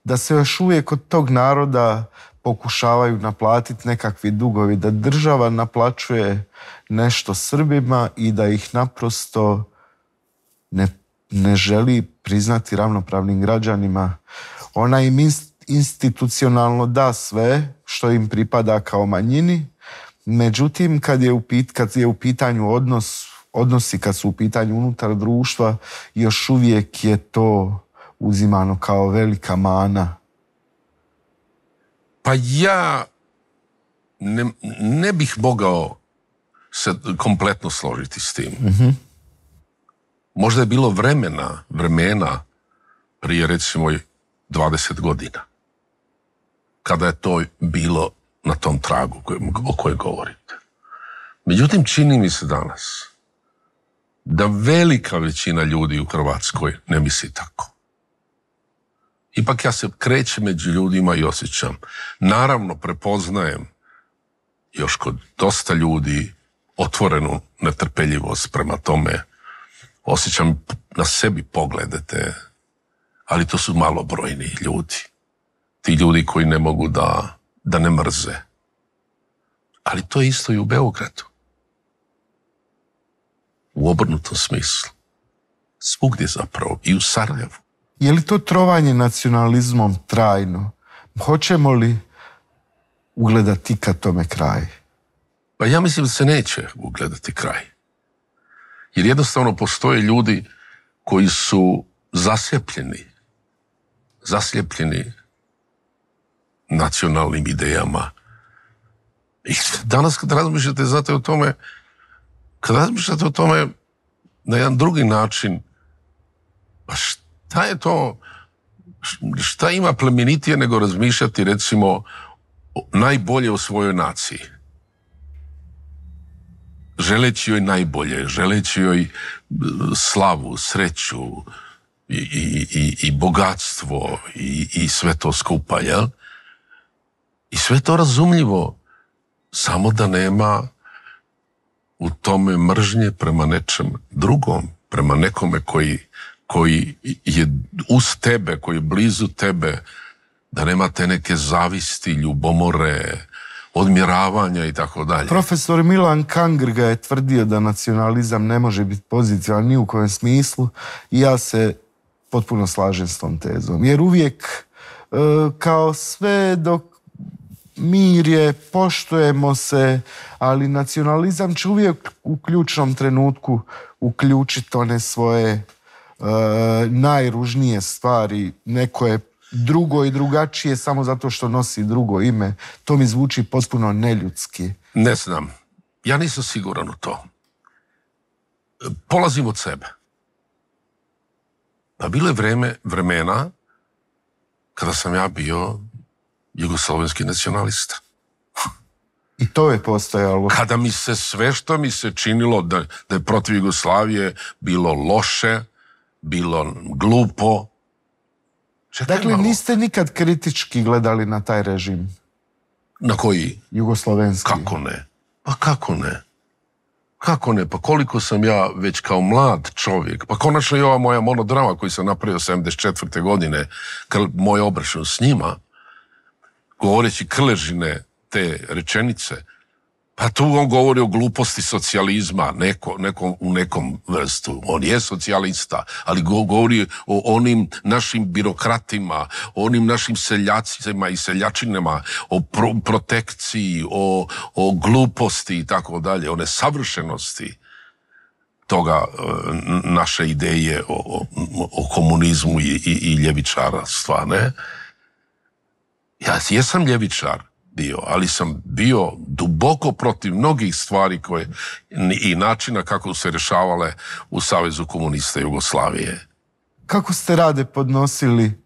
da se još uvijek od tog naroda pokušavaju naplatiti nekakvi dugovi, da država naplaćuje nešto Srbima i da ih naprosto ne želi priznati ravnopravnim građanima? Ona im institucionalno da sve što im pripada kao manjini, međutim kad je u pitanju odnosi kad su u pitanju unutar društva, još uvijek je to uzimano kao velika mana. Pa ja ne bih mogao se kompletno složiti s tim. Možda je bilo vremena prije recimo 20 godina, kada je to bilo na tom tragu o kojem govorite. Međutim, čini mi se danas da velika većina ljudi u Hrvatskoj ne misli tako. Ipak ja se krećem među ljudima i osjećam. Naravno, prepoznajem još kod dosta ljudi otvorenu netrpeljivost prema tome. Osjećam na sebi pogledete, ali to su malobrojni ljudi. Ti ljudi koji ne mogu da ne mrze. Ali to je isto i u Beogradu. U obrnutom smislu. Svugdje zapravo. I u Sarajevu. Je li to trovanje nacionalizmom trajno? Hoćemo li ugledati kad tome kraj? Pa ja mislim da se neće ugledati kraj. Jer jednostavno postoje ljudi koji su zaslijepljeni nacionalnim idejama. I danas kad razmišljate, znate, o tome na jedan drugi način, pa šta je to, šta ima plemenitije nego razmišljati recimo najbolje o svojoj naciji? Želeći joj najbolje, želeći joj slavu, sreću i bogatstvo i sve to skupa, jel? I sve to razumljivo, samo da nema u tome mržnje prema nečem drugom, prema nekome koji je uz tebe, koji je blizu tebe, da nema te neke zavisti, ljubomore, odmjeravanja i tako dalje. Profesor Milan Kangrga je tvrdio da nacionalizam ne može biti pozitivan ni u kojem smislu i ja se potpuno slažem s tom tezom. Jer uvijek, kao sve dok mir je, poštujemo se, ali nacionalizam će uvijek u ključnom trenutku uključiti one svoje najružnije stvari. Neko je drugo i drugačije samo zato što nosi drugo ime. To mi zvuči potpuno neljudski. Ne znam. Ja nisam siguran u to. Polazim od sebe. Pa bilo je vremena kada sam ja bio jugoslovenski nacionalista. I to je postojalo. Kada mi se sve što mi se činilo da je protiv Jugoslavije bilo loše, bilo glupo. Dakle, niste nikad kritički gledali na taj režim? Na koji? Jugoslovenski. Kako ne? Pa kako ne? Kako ne? Pa koliko sam ja već kao mlad čovjek, pa konačno i ova moja monodrama koju sam napravio 74. godine, moj obračun s njima, govoreći krležine te rečenice, pa tu on govori o gluposti socijalizma, u nekom vrstu. On je socijalista, ali govori o onim našim birokratima, o onim našim seljacima i seljačinama, o protekciji, o gluposti i tako dalje, o nesavršenosti toga naše ideje o komunizmu i ljevičarstva, ne? Ja jesam ljevičar bio, ali sam bio duboko protiv mnogih stvari i načina kako se rješavale u Savezu komunista Jugoslavije. Kako ste Rade podnosili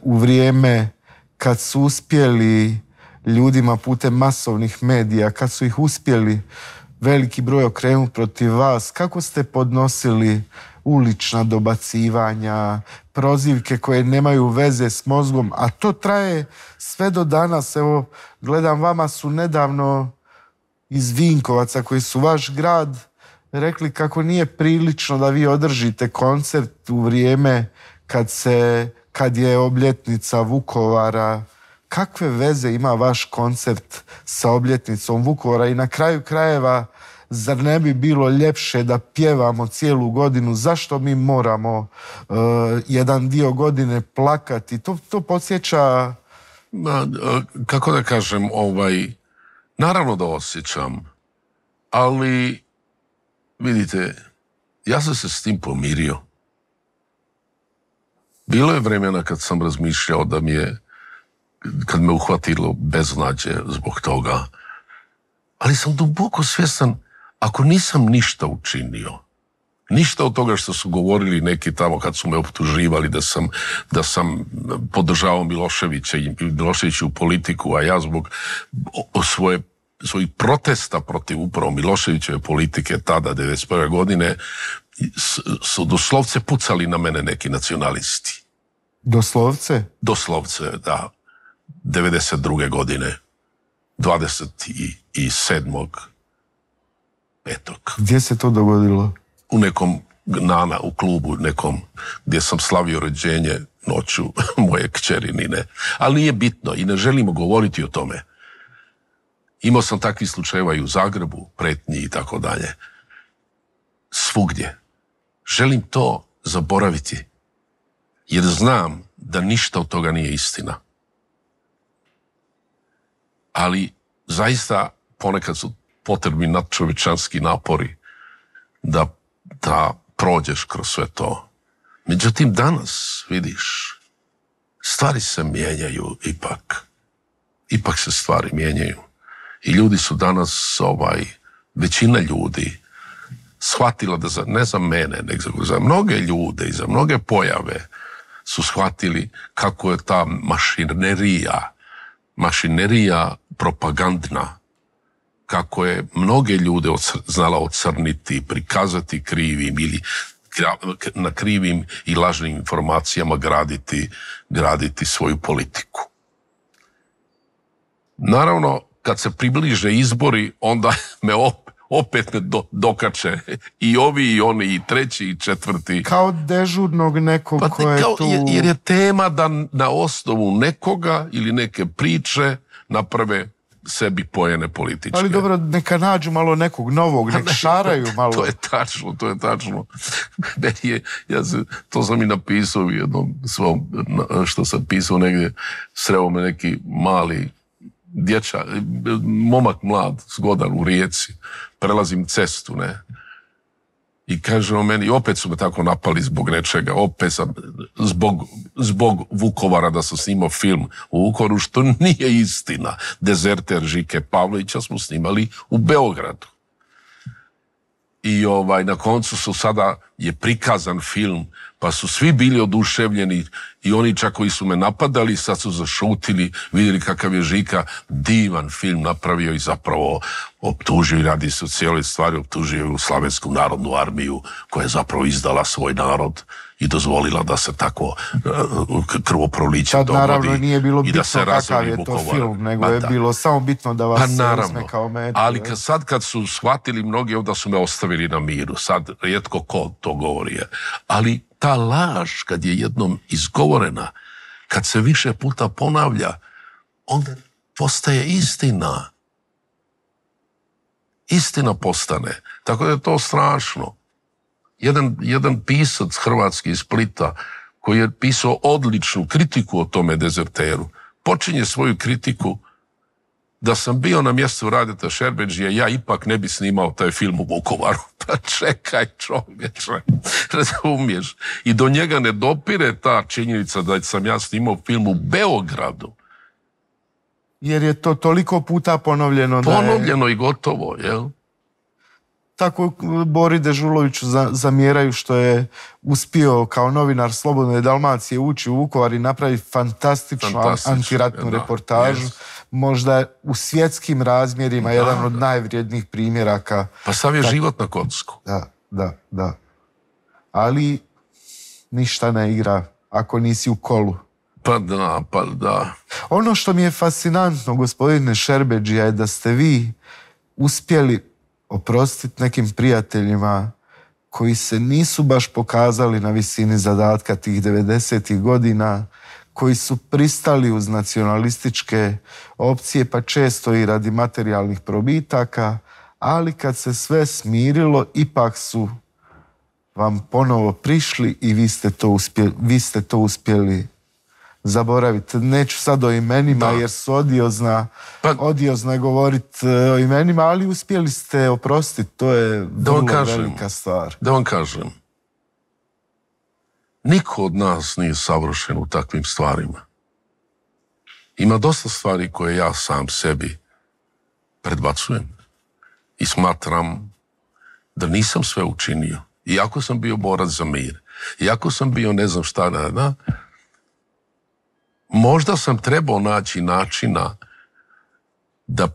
u vrijeme kad su uspjeli ljudima putem masovnih medija, kad su ih uspjeli veliki broj okrenuti protiv vas, kako ste podnosili ulična dobacivanja, prozivke koje nemaju veze s mozgom, a to traje sve do danas. Evo, gledam, vama su nedavno iz Vinkovaca, koji su vaš grad, rekli kako nije prilično da vi održite koncert u vrijeme kad je obljetnica Vukovara. Kakve veze ima vaš koncert sa obljetnicom Vukovara? I na kraju krajeva, zar ne bi bilo ljepše da pjevamo cijelu godinu? Zašto mi moramo jedan dio godine plakati? To podsjeća... Kako da kažem, naravno da osjećam, ali vidite, ja sam se s tim pomirio. Bilo je vremena kad sam razmišljao kad me uhvatilo beznađe zbog toga, ali sam duboko svjestan, ako nisam ništa učinio, ništa od toga što su govorili neki tamo kad su me optuživali da sam podržavao Miloševića i Miloševiću politiku, a ja zbog svojih protesta protiv upravo Miloševićeve politike tada, 1991. godine, su doslovce pucali na mene neki nacionalisti. Doslovce? Doslovce, da. 1992. godine. 27. 5. Gdje se to dogodilo? U nekom u klubu nekom gdje sam slavio rođenje noću moje kćeri Nine. Ali nije bitno i ne želimo govoriti o tome. Imao sam takvih slučajeva i u Zagrebu, pretnji i tako dalje. Svugdje. Želim to zaboraviti, jer znam da ništa od toga nije istina. Ali zaista ponekad su potrebni nadčovječanski napori da prođeš kroz sve to. Međutim, danas, vidiš, stvari se mijenjaju ipak. Ipak se stvari mijenjaju. I ljudi su danas, većina ljudi, shvatila da ne za mene, nego za mnoge ljude i za mnoge pojave su shvatili kako je ta mašinerija propagandna, kako je mnoge ljude znala ocrniti, prikazati krivim ili na krivim i lažnim informacijama graditi svoju politiku. Naravno, kad se približe izbori, onda me opet ne dokače i ovi i oni i treći i četvrti. Kao dežurnog nekog ko je tu... Jer je tema da na osnovu nekoga ili neke priče naprave sebi pojene političke. Ali dobro, neka nađu malo nekog novog, nek šaraju malo. To je tačno. To sam i napisao u jednom svom, što sam pisao negdje, sreo me neki mali momak mlad, zgodan u Rijeci, prelazim cestu, ne, i kaže o meni, opet su me tako napali zbog nečega, opet sam, zbog Vukovara, da sam snimao film u Vukovaru, što nije istina. Dezerter Žike Pavlovića smo snimali u Beogradu. I na koncu sada je prikazan film, pa su svi bili oduševljeni i oni čak koji su me napadali, sad su zašutili, vidjeli kakav je Žika divan film napravio i zapravo optužio i radi se o cijeloj stvari, optužio u Slavensku narodnu armiju koja je zapravo izdala svoj narod i dozvolila da se tako krvoproliće dogodi. Naravno nije bilo bitno kakav je to film, nego je bilo samo bitno da vas se uzme kao metu. Ali kad su shvatili mnogi, onda su me ostavili na miru. Sad rijetko ko to govori. Ali ta laž, kad je jednom izgovorena, kad se više puta ponavlja, onda postaje istina. Istina postane. Tako da je to strašno. Jedan pisac hrvatski iz Splita, koji je pisao odličnu kritiku o tome dezerteru, počinje svoju kritiku: da sam bio na mjestu Radeta Šerbedžije, ja ipak ne bi snimao taj film u Vukovaru. Pa čekaj, čovječe, razumiješ? I do njega ne dopire ta činjenica da sam ja snimao film u Beogradu. Jer je to toliko puta ponovljeno da je... Ponovljeno i gotovo, jel? Tako Bori Dežuloviću zamjeraju što je uspio kao novinar Slobodne Dalmacije ući u Vukovar i napraviti fantastičnu antiratnu reportažu. možda u svjetskim razmjerima jedan od najvrijednijih primjeraka. Pa sav je život na kocku. Da. Ali ništa ne igra ako nisi u kolu. Pa da. Ono što mi je fascinantno, gospodine Šerbedžija, je da ste vi uspjeli oprostiti nekim prijateljima koji se nisu baš pokazali na visini zadatka tih 90-ih godina, koji su pristali uz nacionalističke opcije, pa često i radi materijalnih probitaka, ali kad se sve smirilo, ipak su vam ponovo prišli i vi ste to uspjeli zaboraviti. Neću sad o imenima jer su odiozno je govoriti o imenima, ali uspjeli ste oprostiti, to je vrlo velika stvar. Da vam kažem, niko od nas nije savršen u takvim stvarima. Ima dosta stvari koje ja sam sebi predbacujem i smatram da nisam sve učinio. Iako sam bio borac za mir, iako sam bio ne znam šta možda sam trebao naći načina da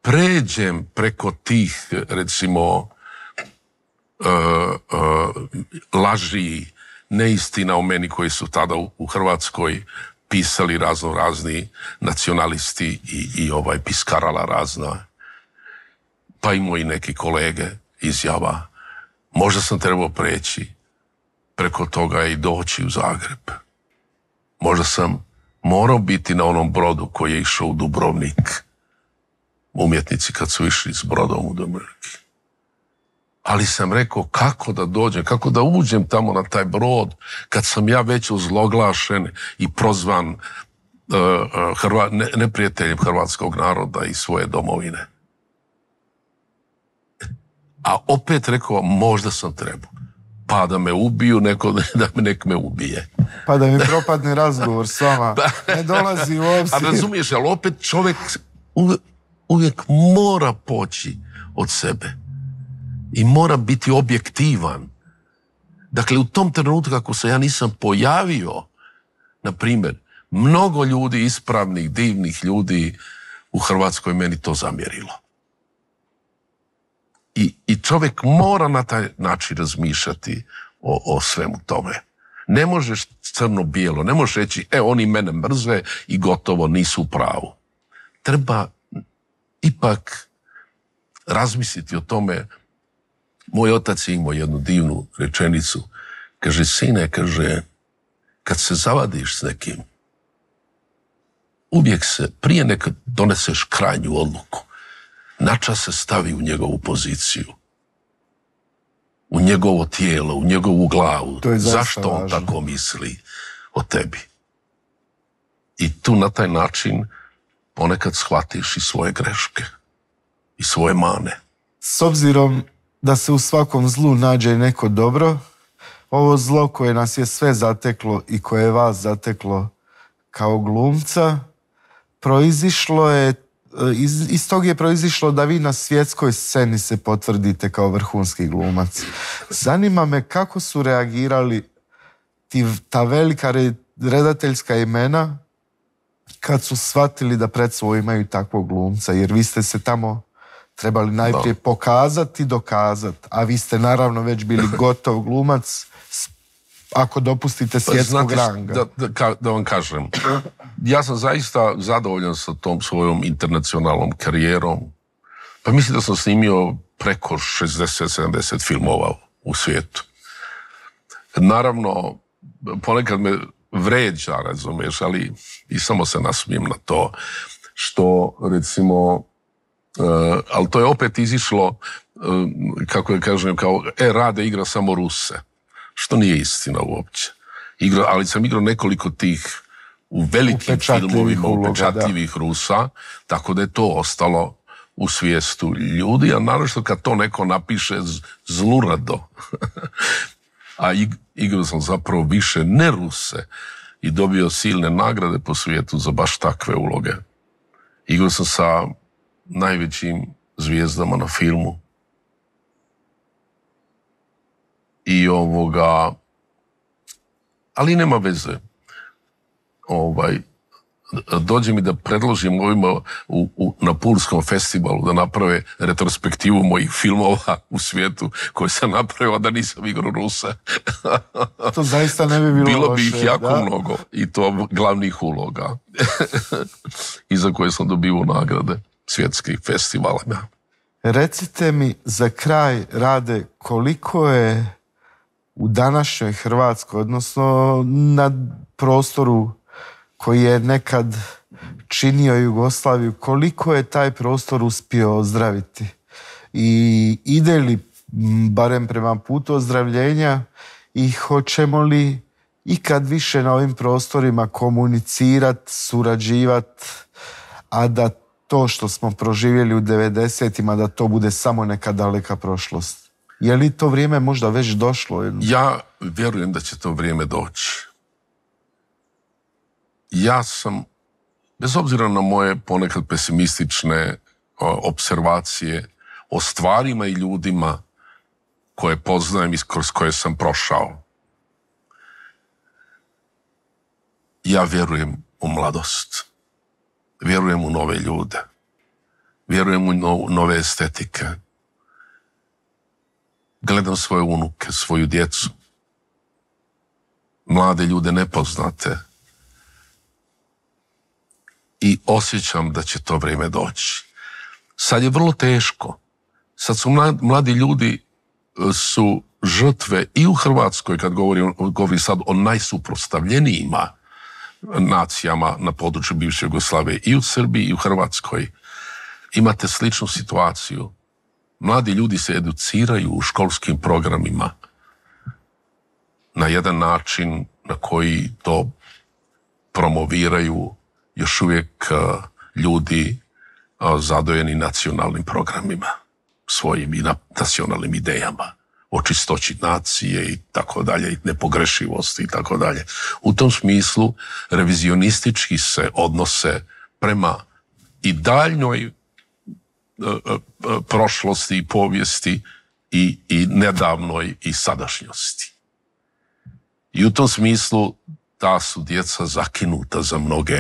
pređem preko tih, recimo, laži, neistina o meni koji su tada u Hrvatskoj pisali razni nacionalisti i piskarala razna, pa i moji neki kolege izjava. Možda sam trebao preći preko toga i doći u Zagreb. Možda sam morao biti na onom brodu koji je išao u Dubrovnik. Umjetnici kad su išli s brodom u Dubrovnik. Ali sam rekao kako da dođem, kako da uđem tamo na taj brod kad sam ja već ozloglašen i prozvan neprijateljem hrvatskog naroda i svoje domovine. A opet rekao, možda sam trebao. Pa da me ubiju, nek me ubije. Pa da mi propadne razgovor s vama. Ne dolazi u obzir. A razumiješ, ali opet čovjek uvijek mora poći od sebe. I mora biti objektivan. Dakle, u tom trenutku kako se ja nisam pojavio, na primjer, mnogo ljudi, ispravnih, divnih ljudi u Hrvatskoj meni to zamjerilo. I čovjek mora na taj način razmišljati o svemu tome. Ne možeš crno-bijelo, ne možeš reći, oni mene mrze i gotovo nisu u pravu. Treba ipak razmisliti o tome. Moj otac je imao jednu divnu rečenicu. Kaže, sine, kad se zavadiš s nekim, uvijek se, prije nekad doneseš krajnju odluku, načas se stavi u njegovu poziciju, u njegovo tijelo, u njegovu glavu. Zašto on tako misli o tebi? I tu na taj način ponekad shvatiš i svoje greške i svoje mane. S obzirom da se u svakom zlu nađe neko dobro, ovo zlo koje nas je sve zateklo i koje je vas zateklo kao glumca, proizišlo je, iz tog je proizišlo da vi na svjetskoj sceni se potvrdite kao vrhunski glumac. Zanima me kako su reagirali ta velika redateljska imena kad su shvatili da pred sobom imaju takvog glumca, jer vi ste se tamo trebali najprije pokazati, dokazati, a vi ste naravno već bili gotov glumac, ako dopustite svjetskog ranga. Da vam kažem, ja sam zaista zadovoljan sa tom svojom internacionalnom karijerom. Pa mislim da sam snimio preko 60-70 filmova u svijetu. Naravno, ponekad me vređa, razumiješ, ali i samo se nasmijem na to, što recimo, ali to je opet izišlo, kako da kažem, kao Rade igra samo Ruse, što nije istina uopće. Ali sam igrao nekoliko tih u velikim filmovima upečatljivih Rusa, tako da je to ostalo u svijestu ljudi, a naravno kad to neko napiše zlurado, a igrao sam zapravo više ne Ruse i dobio silne nagrade po svijetu za baš takve uloge. Igrao sam sa najvećim zvijezdama na filmu i ali nema veze. dođem i da predložim ovima na Pulskom festivalu da naprave retrospektivu mojih filmova u svijetu koje sam napravio, a da nisam igrao Rusa. To zaista ne bi bilo Bilo loše. Bilo bi ih jako mnogo i to glavnih uloga i za koje sam dobio nagrade svjetskih festivala. Recite mi za kraj, Rade, koliko je u današnjoj Hrvatskoj, odnosno na prostoru koji je nekad činio Jugoslaviju, koliko je taj prostor uspio ozdraviti? I ide li barem prema putu ozdravljenja i hoćemo li ikad više na ovim prostorima komunicirati, surađivati, a da to što smo proživjeli u 90-ima, da to bude samo neka daleka prošlost? Je li to vrijeme možda već došlo? Ja vjerujem da će to vrijeme doći. Ja sam, bez obzira na moje ponekad pesimistične observacije o stvarima i ljudima koje poznajem i kroz koje sam prošao, ja vjerujem u mladost. Vjerujem u nove ljude. Vjerujem u nove estetike. Gledam svoje unuke, svoju djecu. Mlade ljude nepoznate. I osjećam da će to vrijeme doći. Sad je vrlo teško. Sad su mladi ljudi su žrtve i u Hrvatskoj, kad govorim sad o najsuprotstavljenijima nacijama na području bivše Jugoslavije, i u Srbiji i u Hrvatskoj. Imate sličnu situaciju. Mladi ljudi se educiraju u školskim programima na jedan način na koji to promoviraju još uvijek ljudi zadojeni nacionalnim programima, svojim i nacionalnim idejama o čistoći nacije i tako dalje, i nepogrešivosti i tako dalje. U tom smislu revizionistički se odnose prema i daljnjoj prošlosti i povijesti i nedavnoj i sadašnjosti. I u tom smislu ta su djeca zakinuta za mnoge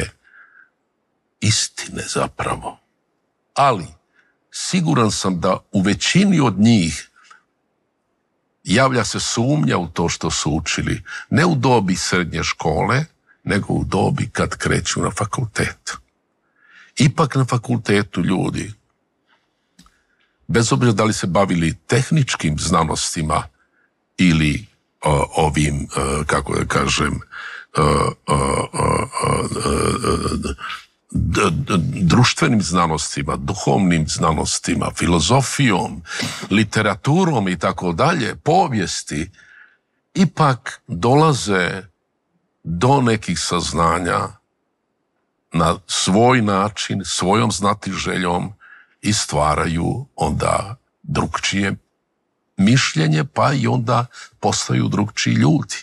istine zapravo. Ali siguran sam da u većini od njih javlja se sumnja u to što su učili, ne u dobi srednje škole, nego u dobi kad kreću na fakultet. Ipak na fakultetu ljudi, bez obzira da li se bavili tehničkim znanostima ili ovim, kako da kažem, društvenim znanostima, duhovnim znanostima, filozofijom, literaturom i tako dalje, povijesti, ipak dolaze do nekih saznanja na svoj način, svojom znatiželjom i stvaraju onda drukčije mišljenje, pa i onda postaju drukčiji ljudi.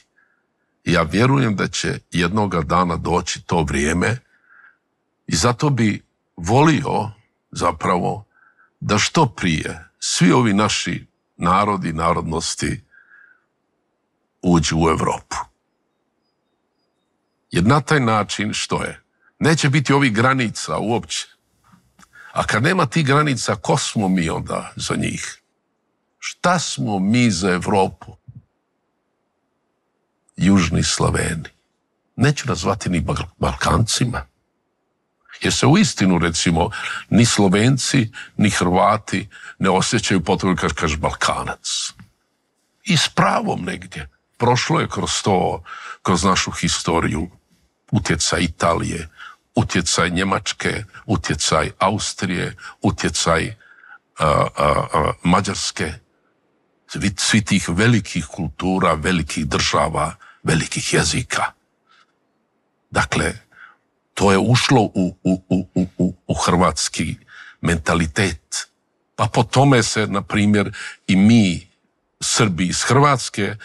Ja vjerujem da će jednoga dana doći to vrijeme i zato bi volio zapravo da što prije svi ovi naši narodi, narodnosti uđu u Europu. Jer na taj način što je? Neće biti ovih granica uopće. A kad nema tih granica, ko smo mi onda za njih? Šta smo mi za Europu? Južni Slaveni. Neću nazvati ni Balkancima. Jer se uistinu, recimo, ni Slovenci, ni Hrvati ne osjećaju potrebu kad kaže Balkanac. I s pravom negdje. Prošlo je kroz to, kroz našu historiju, utjecaj Italije, utjecaj Njemačke, utjecaj Austrije, utjecaj Mađarske, svi tih velikih kultura, velikih država, velikih jezika. Dakle, to je ušlo u hrvatski mentalitet. Pa po tome se, na primjer, i mi, Srbi iz Hrvatske,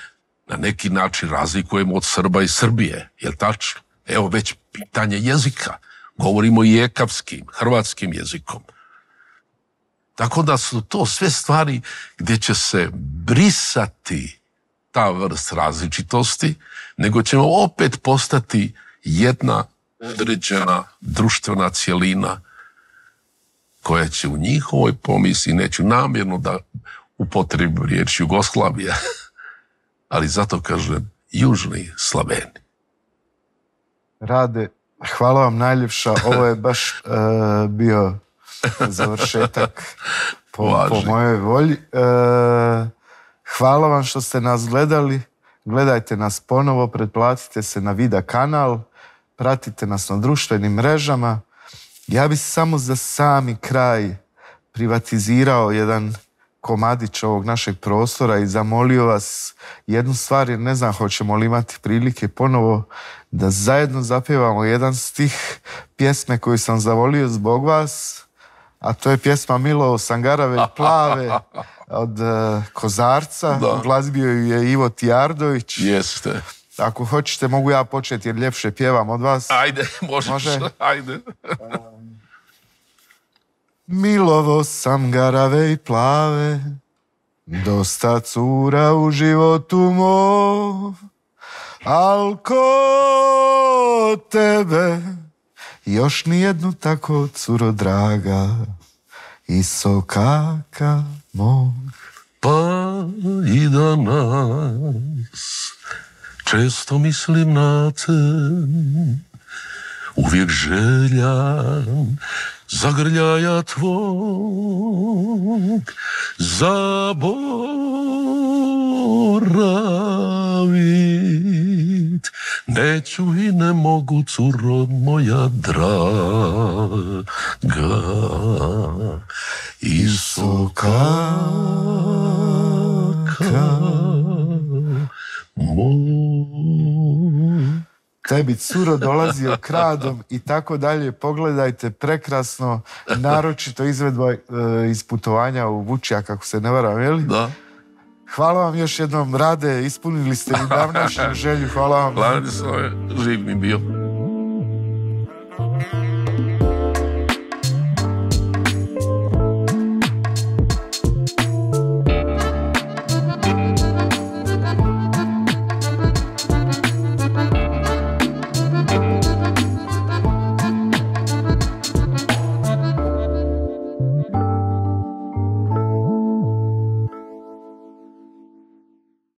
na neki način razlikujemo od Srba iz Srbije. Jel tačno? Evo već pitanje jezika. Govorimo i ekavskim, hrvatskim jezikom. Tako da su to sve stvari gdje će se brisati ta vrst različitosti, nego ćemo opet postati jedna određena društvena cjelina koja će u njihovoj pomisli, neću namjerno da upotrebim riječ Jugoslavija, ali zato kažem južni Slaveni. Rade, hvala vam najljepša, ovo je baš bio završetak po mojoj volji. Hvala vam što ste nas gledali, gledajte nas ponovo, pretplatite se na Vida kanal, pratite nas na društvenim mrežama. Ja bih samo za sami kraj privatizirao jedan komadić ovog našeg prostora i zamolio vas jednu stvar, jer ne znam hoćemo li imati prilike ponovo da zajedno zapjevamo jedan stih pjesme koju sam zavolio zbog vas, a to je pjesma Milo Sangarave i Plave od Kozarca. Glazbio ju je Ivo Tijardović. Jeste. Ako hoćete mogu ja početi jer ljepše pjevam od vas. Ajde, može? Ajde. Milovo sam garave i plave, dosta cura u životu mom, al ko tebe još nijednu tako curo draga i sokaka mog. Pa i danas često mislim na te, uvijek željan zagrljaja tvog zaboravit. Neću i ne mogu, curo moja draga, i sokaka moj. Tebi curo dolazio kradom i tako dalje. Pogledajte, prekrasno, naročito izvedba iz putovanja u Vučija, kako se ne varam, je li? Da. Hvala vam još jednom, Rade, ispunili ste mi davnašnju želju, hvala vam. Hvala, živ mi bio.